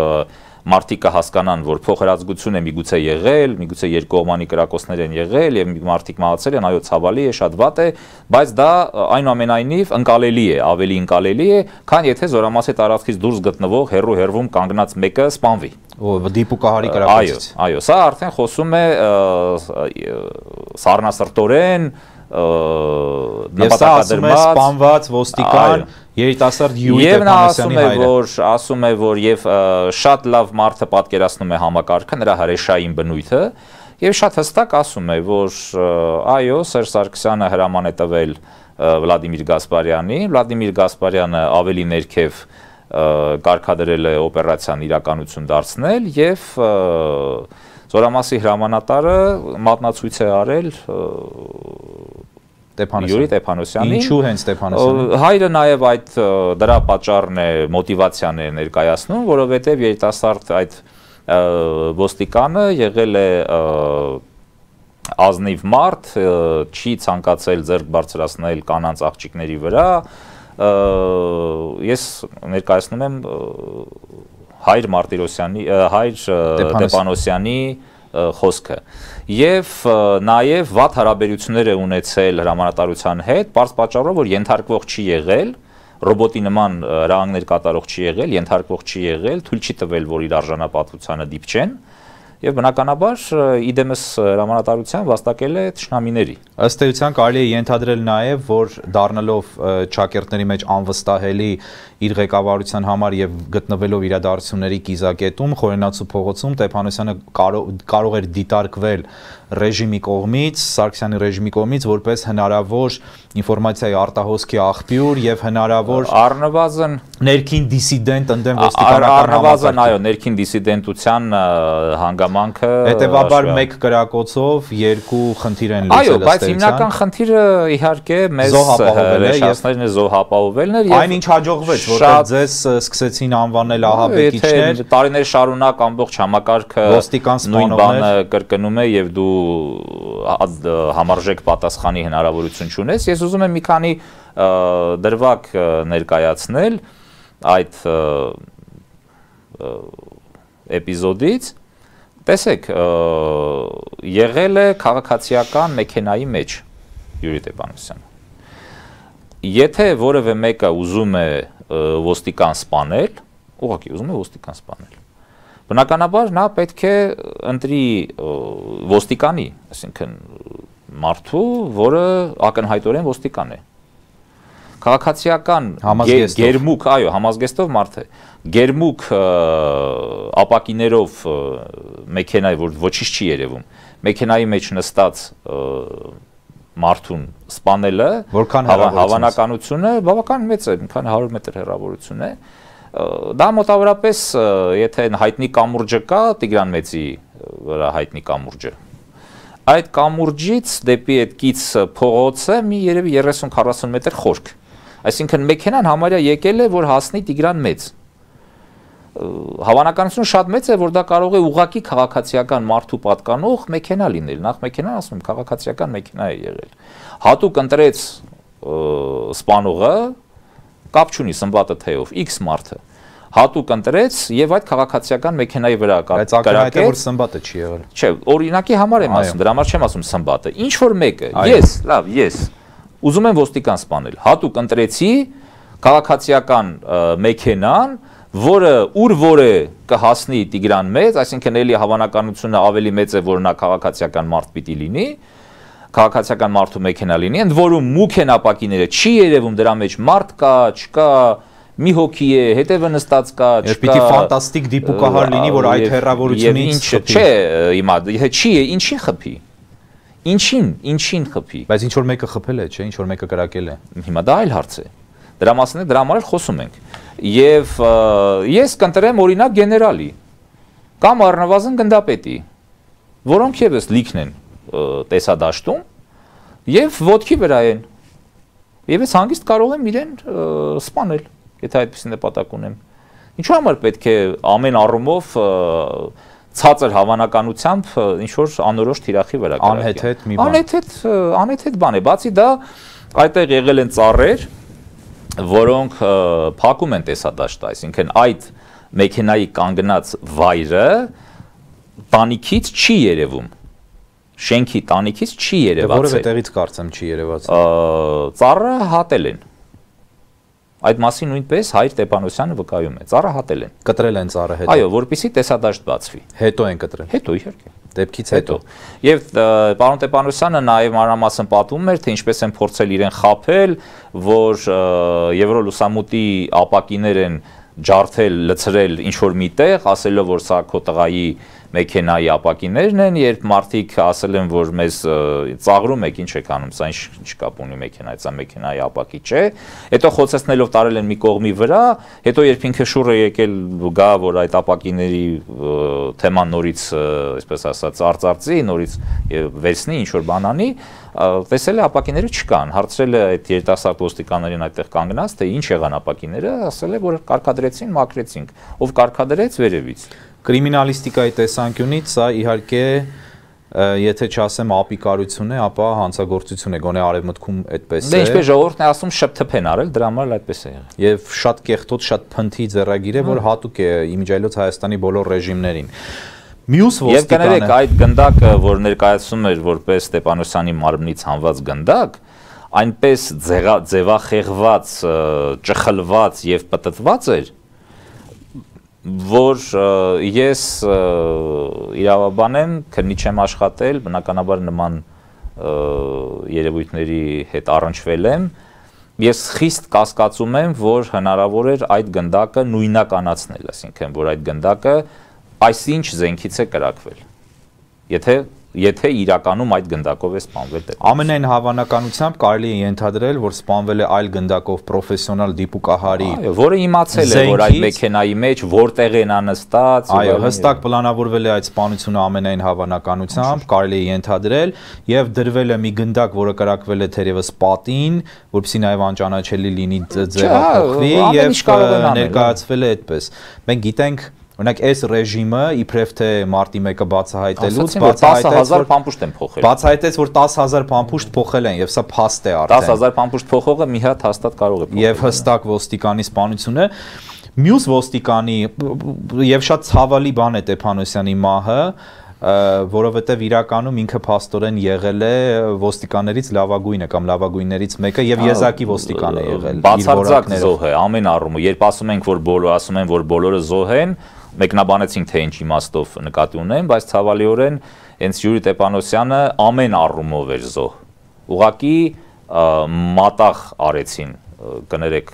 մարդիկը հասկանան, որ փոխհրաձգություն է միգուցե եղել, միգուցե երկկողմանի կրակոցներ են եղել եւ մարդիկ մահացել են, այո, ցավալի է, շատ վատ է, բայց դա այնուամենայնիվ ընկալելի է, ավելի ընկալելի է, քան եթե Զորամասի տարածքից դուրս գտնվող հերրու կանգնած մեկը սպանվի։ Դիպուկահարի կրակոցից։ Այո, սա արդեն խոսում է սառնասրտորեն նպատակադրված սպանված ոստիկան երիտասարդ Յուրի Տեփանոսյանի հայրը։ Եվ ասում է, որ եւ շատ լավ մարդը պատկերացնում է համակարգը, նրա հրեշային բնույթը, եւ շատ հստակ ասում է, որ այո, Սերժ Սարգսյանը հրաման է տվել Վլադիմիր Գասպարյանին, Վլադիմիր Գասպարյանը ավելի ներքև կարգադրել է օպերացիան իրականություն դարձնել եւ Զորամասի հրամանատարը մատնացույց է արել Յուրի Տեփանոսյանին։ Ինչու հենց Տեփանոսյանին։ Հայրը նաև այդ դրա պատճառն է, մոտիվացիան է ներկայացնում, որովհետև երիտասարդ այդ ոստիկանը եղել է ազնիվ մարդ, չի ցանկացել ձեռք բարձրացնել կանանց աղջիկների վրա, ես ներկայացնում եմ Հայր Մարտիրոսյանի, Հայր Տեպանոսյանի խոսքը եւ նաեւ վատ հարաբերություններ է ունեցել հրամանատարության հետ, բարձ պատճառով որ ենթարկվող չի եղել, ռոբոտի նման հրահանգներ կատարող չի եղել, ենթարկվող չի եղել, թույլ չի տվել որ իր արժանապատվությանը դիպչեն եւ բնականաբար իդեմս հրամանատարության վաստակել է թշնամիների։ Ըստ էության կարելի է ենթադրել նաեւ որ դառնալով ճակերտների մեջ անվստահելի իր ղեկավարության համար եւ գտնվելով իրադարձությունների կիզակետում Խորենացու փողոցում Տեփանոսյանը կարող էր դիտարկվել ռեժիմի կողմից, Սարգսյանի ռեժիմի կողմից որպես հնարավոր ինֆորմացիայի արտահոսքի աղբյուր եւ հնարավոր առնվազն ներքին դիսիդենտ ընդդեմ ոստիկանական առնվազն այո ներքին դիսիդենտության հանգամանքը հետեւաբար մեկ կրակոցով երկու խնդիր են լուծել այո բայց հիմնական խնդիրը իհարկե մեզ հրաշացնելն է զոհապահովելն էր այն ինչ հաջողվեց որտեղ ձեզ սկսեցին անվանել ահաբեկիչներ տարիներ շարունակ ամբողջ համակարգը նույն բանը կրկնում է եւ դու համարժեք պատասխանի հնարավորություն չունես ես ուզում եմ մի քանի դրվագ ներկայացնել այդ էպիզոդից տեսեք եղել է քաղաքացիական մեքենայի մեջ Յուրի Տեպանոսյանը եթե որևէ մեկը ուզում է ոստիկան սպանել ուղղակի ուզում է ոստիկան սպանել բնականաբար նա պետք է ընտրի ոստիկանի այսինքն մարդու որը ակնհայտորեն ոստիկան է քաղաքացիական գերմուկ այո համազգեստով մարդ է գերմուկ ապակիներով մեքենայի որ ոչինչ չի երևում մեքենայի մեջ նստած մարդուն սպանելը հավանականությունը բավական մեծ է մի քանի 100 մետր հեռավորություն է դա մոտավորապես եթե հայտնի կամուրջը կա Տիգրան Մեծի վրա հայտնի կամուրջը այդ կամուրջից դեպի այդ կից փողոցը մի երևի 30-40 մետր խորք այսինքն մեքենան համարյա եկել է որ հասնի Տիգրան Մեծ հավանականությունը շատ մեծ է որ դա կարող է ուղղակի քաղաքացիական մարդու պատկանող մեքենա լինել նախ մեքենան ասում եմ քաղաքացիական մեքենա է եղել հատուկ ընտրեց սպանողը կապ չունի սմբատը թեով X մարդը հատուկ ընտրեց եւ այդ քաղաքացիական մեքենայի վրա կրակեց որ սմբատը չի եղել չէ օրինակի համար եմ ասում դրա համար չեմ ասում սմբատը ինչ որ մեկը ես ուզում եմ ոստիկան սպանել հատուկ ընտրեցի քաղաքացիական մեքենան որը ուր որը կհասնի Տիգրան Մեծ այսինքն էլի հավանականությունը ավելի մեծ է որ նա քաղաքացիական մարդ պիտի լինի քաղաքացիական մարդու մեքենա լինի, ընդ որում մուք են ապակիները, չի երևում դրա մեջ մարդ կա, չկա, մի հոգի է, հետևը նստած կա, չկա։ Պիտի ֆանտաստիկ դիպուկահար լինի, որ այդ հեռավորությունից խփի։ Չէ, հիմա չի է, ինչին խփի։ Ինչին խփի։ Բայց ինչ որ մեկը խփել է, չէ, ինչ որ մեկը կրակել է։ Հիմա դա այլ հարց է։ Դրա մասին դրա համար խոսում ենք։ Եվ ես կընտրեմ օրինակ գեներալի կամ առնվազն գնդապետի, որոնք եւս լիքն են տեսադաշտում եւ ոտքի վրա են եւ ես հանգիստ կարող եմ իրեն սպանել եթե այդպեսի նպատակ ունեմ ինչու համար պետք է ամեն առումով ցածր հավանականությամբ ինչ որ անորոշ թիրախի վրա անհեթեթ բան է բացի դա այդտեղ եղել են ծառեր որոնք փակում են տեսադաշտը այսինքն այդ մեքենայի կանգնած վայրը տանիքից չի երևում շենքի տանիքից չի երևացել։ Որևէ տեղից կարծեմ չի երևացել։ Ծառը հատել են։ Այդ մասին նույնպես Հայր Տեպանոսյանը վկայում է։ Ծառը հատել են։ Կտրել են ծառը հետո։ Այո, որպեսզի տեսադաշտ բացվի։ Հետո են կտրել։ Հետո իհարկե։ Դեպքից հետո։ Եվ պարոն Տեպանոսյանը նաև մանրամասն պատմում էր, թե ինչպես են փորձել իրեն խաբել, որ Եվրոլուսամուտի ապակիներ են ջարդել, լցրել ինչ որ միտեղ, ասելով որ սա քո տղայի մեքենայի ապակիներն են, երբ մարդիկ ասել են, որ մեզ ծաղրում եք, ինչ եք անում, սա ինչ կապ ունի մեքենայի, սա մեքենայի ապակի չէ, հետո խոցեցնելով տարել են մի կողմի վրա, հետո երբ ինքը շուռը եկել գա, որ այդ ապակիների թեման նորից, այսպես ասած, արծարծի, նորից վերցնի, ինչ որ բան անի, տեսել է ապակիները չկան, հարցրել է այդ երիտասարդ ոստիկաններին այդտեղ կանգնած, թե ինչ եղան ապակիները, ասել է, որ կարգադրեցին, մաքրեցինք, ով կարգադրեց վերևից։ Կրիմինալիստիկայի տեսանկյունից սա իհարկե եթե չասեմ ապիկարություն է, ապա հանցագործություն է, գոնե արևմուտքում այդպես է։ Դե ինչպես ժողովուրդն է ասում, շփթփ են արել, դրա համար այդպես է եղել։ Եվ շատ կեղտոտ, շատ փնթի ձեռագիր է, որ հատուկ է իմիջիայլոց Հայաստանի բոլոր ռեժիմներին։ Մյուս Եվ կներեք այդ գնդակը, որ ներկայացում էր որպես Ստեփանոսյանի մարմնից հանված գնդակ, այնպես ձևախեղված, ճխլված եւ պտտված էր, որ ես իրավաբան եմ, քննիչ եմ աշխատել, բնականաբար նման երևույթների հետ առնչվել եմ, ես խիստ կասկածում եմ, որ հնարավոր էր այդ գնդակը նույնականացնել, այսինքն որ այդ գնդակը այսինչ զենքից է կրակվել, եթե իրականում այդ գնդակով է սպանվել դեպի։ Ամենայն հավանականությամբ կարելի է ենթադրել, որ սպանվել է այլ գնդակով պրոֆեսիոնալ դիպուկահարի, որը իմացել է, որ այդ մեքենայի մեջ որտեղ են նստած։ Այո, հստակ պլանավորվել է այդ սպանությունը ամենայն հավանականությամբ, կարելի է ենթադրել, եւ դրվել է մի գնդակ, որը կրակվել է թերևս պատին, որպեսզի նաեւ անճանաչելի լինի ձևափոխվի եւ ներկայացվել է այդպես։ Մենք գիտենք Օրինակ այս ռեժիմը իբրև թե մարտի 1-ը բացահայտելուց բացահայտեց 10,000 փամփուշտ են փոխել։ Բացահայտեց որ 10,000 փամփուշտ փոխել են եւ սա փաստ է արդեն։ 10,000 փամփուշտ փոխողը մի հատ հաստատ կարող է փոխել։ Եվ հստակ ոստիկանի սպանությունը, մյուս ոստիկանի եւ շատ ցավալի բան է Ստեփանոսյանի մահը, որովհետև իրականում ինքը փաստորեն եղել է ոստիկաններից լավագույնը կամ լավագույններից մեկը եւ եզակի ոստիկան է եղել։ Բացարձակ զոհ է ամեն առումով։ Երբ ասում են, որ բոլորը զոհ են, մեկնաբանեցինք թե ինչ իմաստով նկատի ունեն, բայց ցավալիորեն հենց Յուրի Ստեփանոսյանը ամեն առումով էր զոհ։ Ուղղակի մատաղ արեցին կներեք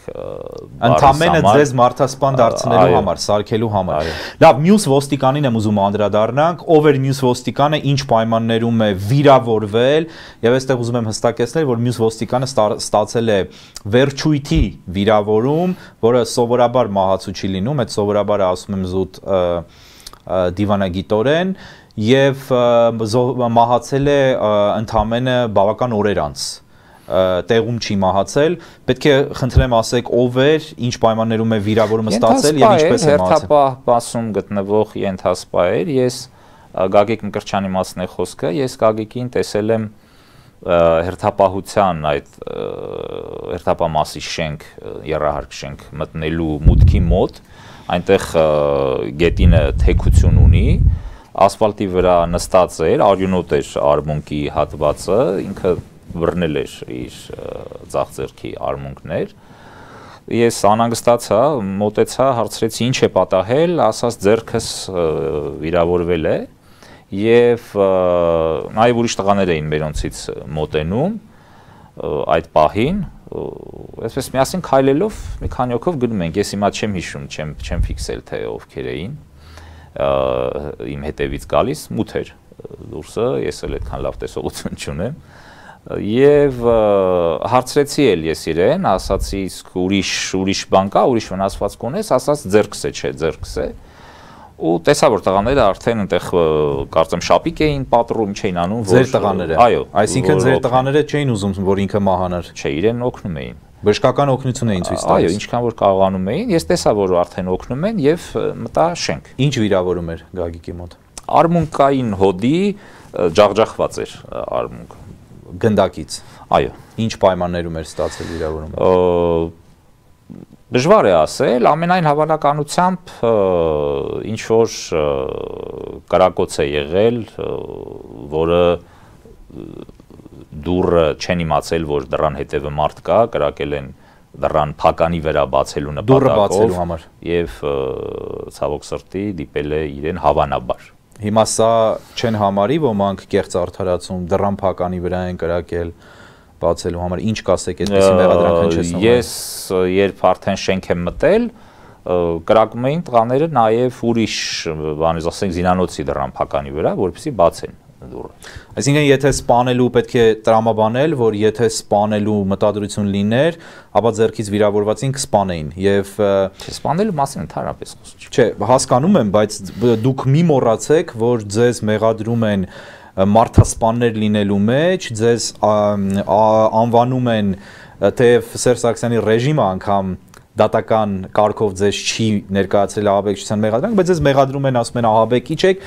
ընդամենը ձեզ մարդասպան դարձնելու համար, սարքելու համար։ Լավ, մյուս ոստիկանին եմ ուզում անդրադառնանք, ով էր մյուս ոստիկանը, ինչ պայմաններում է վիրավորվել, եւ այստեղ ուզում եմ հստակեցնել, որ մյուս ոստիկանը ստացել է վերջույթի վիրավորում, որը սովորաբար մահացու չի լինում, այդ սովորաբարը ասում եմ զուտ դիվանագիտորեն, եւ մահացել է ընդամենը բավական օրեր անց։ Տեղում չի մահացել, պետք է խնդրեմ ասեք ով էր, ինչ պայմաններում է վիրավորումը ստացել եւ ինչպես է մահացել։ Հերթապահ բասում գտնվող ենթասպա էր, ես Գագիկ Մկրտչյանի մասն է խոսքը, ես Գագիկին տեսել եմ հերթապահության այդ հերթապահ շենք, եռահարկ շենք մտնելու մուտքի մոտ, այնտեղ գետինը թեքություն ունի, ասֆալտի վրա նստած էր, արյունոտ էր արմունկի հատվածը, ինքը բռնել էր իր ձախ ձեռքի արմունկներ, ես անհանգստացա, մոտեցա, հարցրեցի ինչ է պատահել, ասաց ձեռքս վիրավորվել է եւ նաեւ ուրիշ տղաներ էին մերոնցից մոտենում այդ պահին, այսպես միասին քայլելով մի քանի օքով գնում ենք, ես հիմա չեմ հիշում, չեմ ֆիքսել թե ովքեր էին իմ հետևից գալիս, մութ էր դուրսը, ես էլ այդքան լավ տեսողություն չունեմ Եվ հարցրեցի էլ ես իրեն, ասացի իսկ ուրիշ բան կա, ուրիշ վնասվածք ունես, ասաց ձեռքս է, չէ, ձեռքս է։ Ու տեսա որ տղաները արդեն այնտեղ կարծեմ շապիկ էին պատռում, չէին անում, որ ձեր տղաները։ Այո, այսինքն ձեր տղաները չէին ուզում, որ ինքը մահանար։ Չէ, իրեն օգնում էին։ Բժշկական օգնություն էին ցույց տալիս։ Այո, ինչքան որ կարողանում էին, ես տեսա որ արդեն օգնում են եւ մտա շենք։ Ինչ վիրավորում էր Գագիկի մոտ։ Արմունկային հոդի ջախջախված էր արմունկը։ Գնդակից։ Այո։ Ինչ պայմաններում էր ստացել վիրավորումը։ Դժվար է ասել, ամենայն հավանականությամբ ինչ որ կրակոց է եղել, որը դուռը չեն իմացել, որ դռան հետևը մարդ կա, կրակել են դռան փականի վրա բացելու նպատակով եւ ցավոք սրտի դիպել է իրեն հավանաբար։ Հիմա սա չեն համարի ոմանք կեղծ արդարացում դռան փականի վրա են կրակել բացելու համար ինչ կասեք այդպեսի մեղադրանք հնչեցնում։ Ես երբ արդեն շենք եմ մտել, կրակում էին տղաները նաև ուրիշ բանից ասենք զինանոցի դռան փականի վրա, որպեսզի բացեն դուռը։ Այսինքն եթե սպանելու պետք է տրամաբանել, որ եթե սպանելու մտադրություն լիներ, ապա ձեռքից վիրավորվածին կսպանեին եւ սպանելու մասին ընդհանրապես խոսք չէ, հասկանում եմ, բայց դուք մի մոռացեք, որ ձեզ մեղադրում են մարդասպաններ լինելու մեջ, ձեզ անվանում են թեև Սերժ Սարգսյանի ռեժիմը անգամ դատական կարգով ձեզ չի ներկայացրել ահաբեկչության մեղադրանք, բայց ձեզ մեղադրում են, ասում են ահաբեկիչ եք,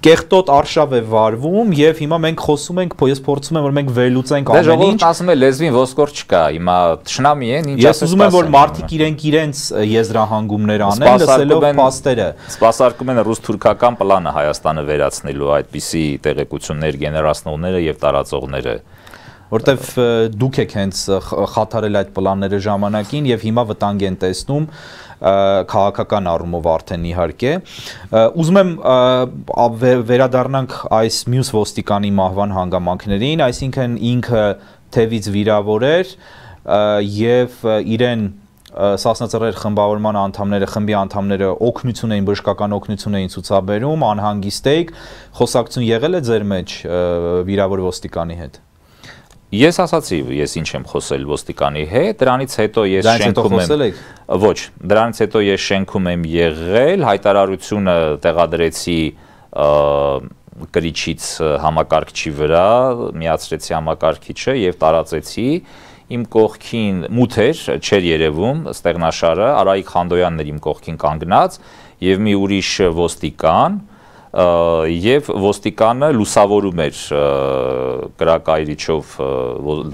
կեղտոտ արշավ է վարվում եւ հիմա մենք խոսում ենք, ես փորձում եմ որ մենք վերլուծենք ամեն ինչ։ Դե ժողովուրդը ասում է լեզվին ոսկոր չկա, հիմա թշնամի են, ինչ ասես։ Ես ուզում եմ որ մարդիկ իրենց եզրահանգումներ անեն, լսելով փաստերը։ Սպասարկում են ռուս-թուրքական պլանը Հայաստանը վերացնելու, այդպիսի տեղեկություններ գեներացնողները եւ տարածողները։ Որտեվ դուք եք հենց խաթարել այդ պլանները ժամանակին եւ հիմա վտանգ են տեսնում քաղաքական առումով արդեն իհարկե։ Ուզում եմ վերադառնանք այս մյուս ոստիկանի մահվան հանգամանքներին, այսինքն ինքը թևից վիրավոր էր եւ իրեն Սասնածռեր խմբավորման անդամները, խմբի անդամները օգնություն էին, բժշկական օգնություն էին ցուցաբերում, անհանգիստ եք, խոսակցություն եղել է ձեր մեջ վիրավոր ոստիկանի հետ։ Ես ասացի, ես ինչ եմ խոսել ոստիկանի հետ, դրանից հետո ես շենքում եմ։ Ոչ, դրանից հետո ես շենքում եմ եղել, հայտարարությունը տեղադրեցի կրիչից համակարգչի վրա, միացրեցի համակարգիչը եւ տարածեցի։ Իմ կողքին մութ էր, չէր երևում ստեղնաշարը, Արայիկ Խանդոյանն էր իմ կողքին կանգնած եւ մի ուրիշ ոստիկան եւ ոստիկանը լուսավորում էր կրակայրիչով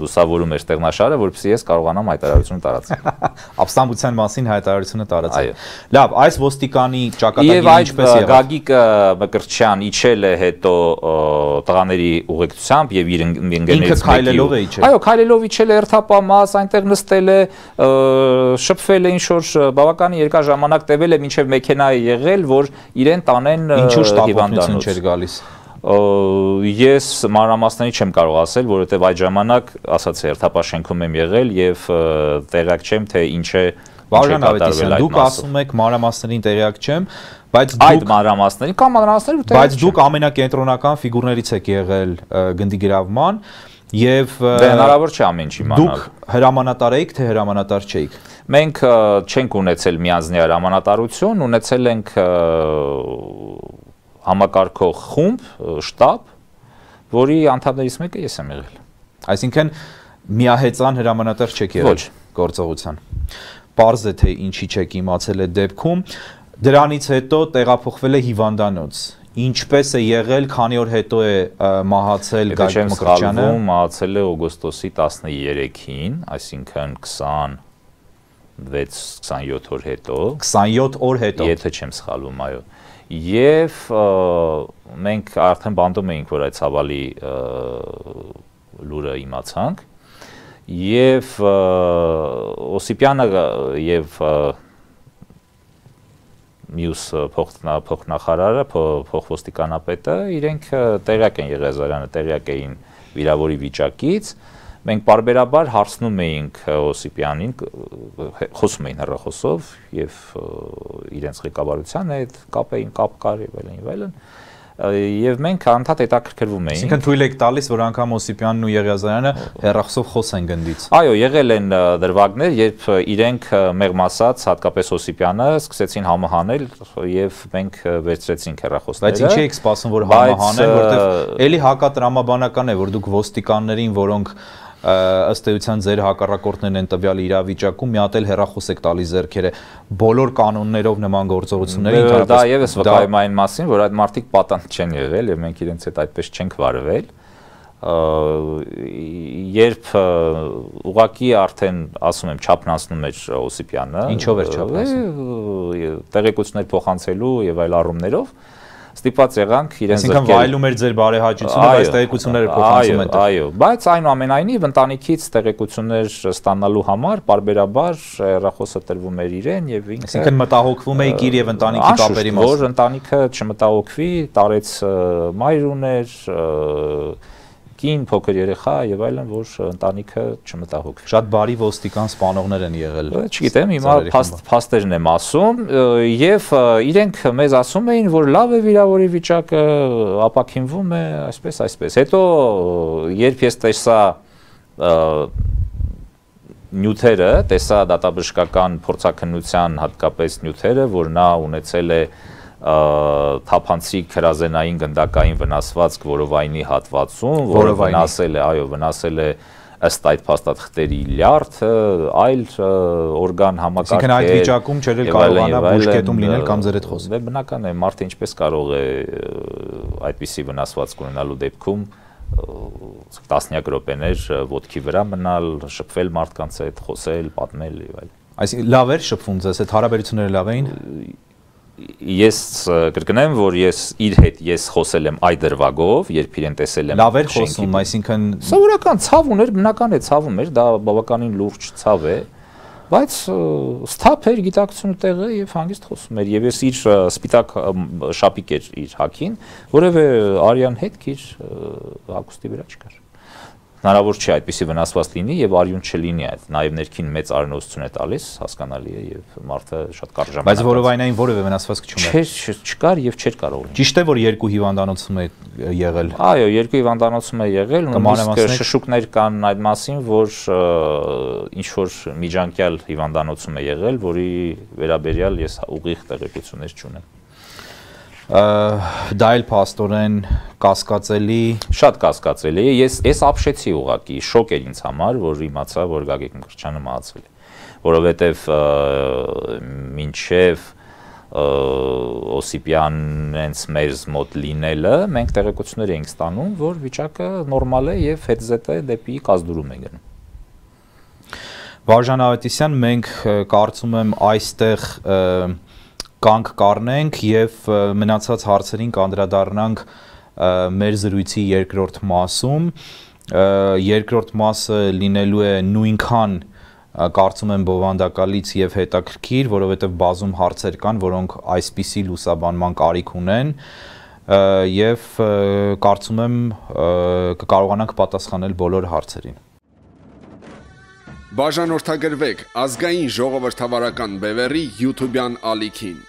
լուսավորում էր ստեղնաշարը, որպեսզի ես կարողանամ հայտարարությունը տարածել։ Ապստամբության մասին հայտարարությունը տարածել։ Լավ, այս ոստիկանի ճակատագիրը ինչպես եղավ։ Եվ Գագիկ Մկրտչյան իջել է հետո տղաների ուղեկցությամբ եւ իր ընկերներից մեկի։ Ինքը քայլելով է իջել։ Այո, քայլելով իջել է երթապամած, այնտեղ նստել է, շփվել է ինչ որ բավականին երկար ժամանակ տևել է, մինչեւ մեքենա է եղել, որ իրեն տանեն հիվանդանոց չէր գալիս։ Ես մանրամասների չեմ կարող ասել, որովհետև այդ ժամանակ ասացի երթապաշենքում եմ եղել եւ տեղյակ չեմ թե ինչ է Վարժան Ավետիսյան, դուք ասում եք մանրամասներին տեղյակ չեմ, բայց այդ մանրամասներին կամ մանրամասների տեղյակ չեմ։ Բայց դուք ամենակենտրոնական ֆիգուրներից եք եղել գնդի գրավման եւ Դե հնարավոր չէ ամեն ինչ իմանալ։ Դուք հրամանատար եք թե հրամանատար չէիք։ Մենք չենք ունեցել միանձնյա հրամանատարություն, ունեցել ենք համակարգող խումբ, շտաբ, որի անդամներից մեկը ես եմ եղել։ Այսինքն միահեծան հրամանատար չեք եղել գործողության։ Պարզ է թե ինչի չեք իմացել այդ դեպքում, դրանից հետո տեղափոխվել է հիվանդանոց։ Ինչպես է եղել, քանի օր հետո է մահացել Գագիկ Մկրտչյանը։ Մահացել է օգոստոսի 13-ին, այսինքն 26-27 օր հետո։ 27 օր հետո։ Եթե չեմ սխալվում, այո։ Եվ մենք արդեն բանդում էինք, որ այդ ցավալի լուրը իմացանք, եւ Օսիպյանը եւ մյուս փոխնախարարը, փոխոստիկանապետը իրենք տեղյակ են Եղիազարյանը, տեղյակ էին վիրավորի վիճակից, մենք բարբերաբար հարցնում էինք Օսիպյանին, խոսում էին հեռախոսով եւ իրենց ղեկավարության հետ կապ կար եւ այլն, եւ մենք անդադ հետաքրքրվում էինք։ Այսինքն թույլ եք տալիս, որ անգամ Օսիպյանն ու Եղիազարյանը հեռախոսով խոսեն գնդից։ Այո, եղել են դրվագներ, երբ իրենք մեղմ ասած, հատկապես Օսիպյանը, սկսեցին համահանել եւ մենք վերցրեցինք հեռախոսները։ Բայց ինչի եք սպասում, որ համահանեն, որտեվ էլի հակատրամաբանական է, որ դուք ոստիկաններին, որոնք ըստ էության ձեր հակառակորդներն են տվյալ իրավիճակում, մի հատ էլ հեռախոս եք տալիս ձեռքերը, բոլոր կանոններով նման գործողությունների դա եւս վկայում այն մասին, որ այդ մարդիկ պատանդ չեն եղել եւ մենք իրենց հետ այդպես չենք վարվել։ Երբ ուղակի արդեն ասում եմ չափնացնում էր Օսիպյանը, ինչով էր չափնացնում։ Տեղեկություններ փոխանցելու եւ այլ առումներով ստիպված եղանք իրենց զրկել։ Այսինքն վայելում էր ձեր բարեհաճությունը, բայց տեղեկությունները փոխանցում են։ Այո, բայց այնուամենայնիվ ընտանիքից տեղեկություններ ստանալու համար բարբերաբար հեռախոսը տրվում էր իրեն եւ ինքը։ Այսինքն մտահոգվում էիք իր եւ ընտանիքի կապերի մասին։ Որ ընտանիքը չմտահոգվի, տարեց մայր ուներ, կին, փոքր երեխա եւ այլն, որ ընտանիքը չմտահոգվի։ Շատ բարի ոստիկան սպանողներ են եղել։ Չգիտեմ, հիմա փաստերն եմ ասում եւ իրենք մեզ ասում էին, որ լավ է վիրավորի վիճակը, ապակինվում է, այսպես։ Հետո երբ ես տեսա նյութերը, տեսա դատաբժշկական փորձաքննության հատկապես նյութերը, որ նա ունեցել է թափանցիկ հրազենային գնդակային վնասվածք որովայնի հատվածում, որը վնասել է ըստ այդ փաստաթղթերի լյարդ այլ օրգան համակարգ Այսինքն այդ վիճակում չէր կարողանա բուժկետում լինել կամ ձեր հետ խոսել։ Դե բնական է, մարդը ինչպես կարող է այդպիսի վնասվածք ունենալու դեպքում տասնյակ րոպեներ ոտքի վրա մնալ, շփվել մարդկանց հետ, խոսել, պատմել եւ այլն։ Այսինքն լավ էր շփվում ձեզ հետ, հարաբերությունները լավ էին։ Ես կրկնեմ, որ իր հետ խոսել եմ այդ դրվագով, երբ իրեն տեսել եմ։ Լավ էր խոսում, այսինքն սովորական ցավ ուներ, բնական է ցավ ուներ, դա բավականին լուրջ ցավ է, բայց սթափ էր, գիտակցությունը տեղը եւ հանգիստ խոսում էր եւ ես իր սպիտակ շապիկ էր իր հակին, որևէ արյան հետ իր հագուստի վրա չկար։ Հնարավոր չէ այդպիսի վնասված լինի եւ արյուն չլինի այդ, նաեւ ներքին մեծ արյունոցություն է տալիս, հասկանալի է եւ մարդը շատ կարճ ժամանակ։ Բայց որովայնային որևէ վնասվածք չուներ։ Չկար եւ չէր կարող լինել։ Ճիշտ է, որ երկու հիվանդանոցում է եղել։ Այո, երկու հիվանդանոցում է եղել, նույնիսկ շշուկներ կան այդ մասին, որ ինչ որ միջանկյալ հիվանդանոցում է եղել, որի վերաբերյալ ես ուղիղ տեղեկություններ չունեմ։ Դա էլ փաստորեն կասկածելի, շատ կասկածելի է։ Ես ապշեցի ուղակի, շոկ էր ինձ համար, որ իմացա, որ Գագիկ Մկրտչյանը մահացել է, որովհետև մինչև Օսիպյանենց մեզ մոտ լինելը մենք տեղեկություններ էինք ստանում, որ վիճակը նորմալ է եւ հետզհետե դեպի կազդուրում է գնում։ Վարժան Ավետիսյան, մենք կարծում եմ այստեղ կանք կառնենք եւ մնացած հարցերին կանդրադառնանք մեր զրույցի երկրորդ մասում։ Երկրորդ մասը լինելու է նույնքան կարծում եմ բովանդակալից եւ հետաքրքիր, որովհետեւ բազում հարցեր կան, որոնք այսպիսի լուսաբանման կարիք ունեն եւ կարծում եմ կկարողանանք պատասխանել բոլոր հարցերին։ Բաժանորդագրվեք ազգային ժողովրդավարական բևեռի YouTube-յան ալիքին։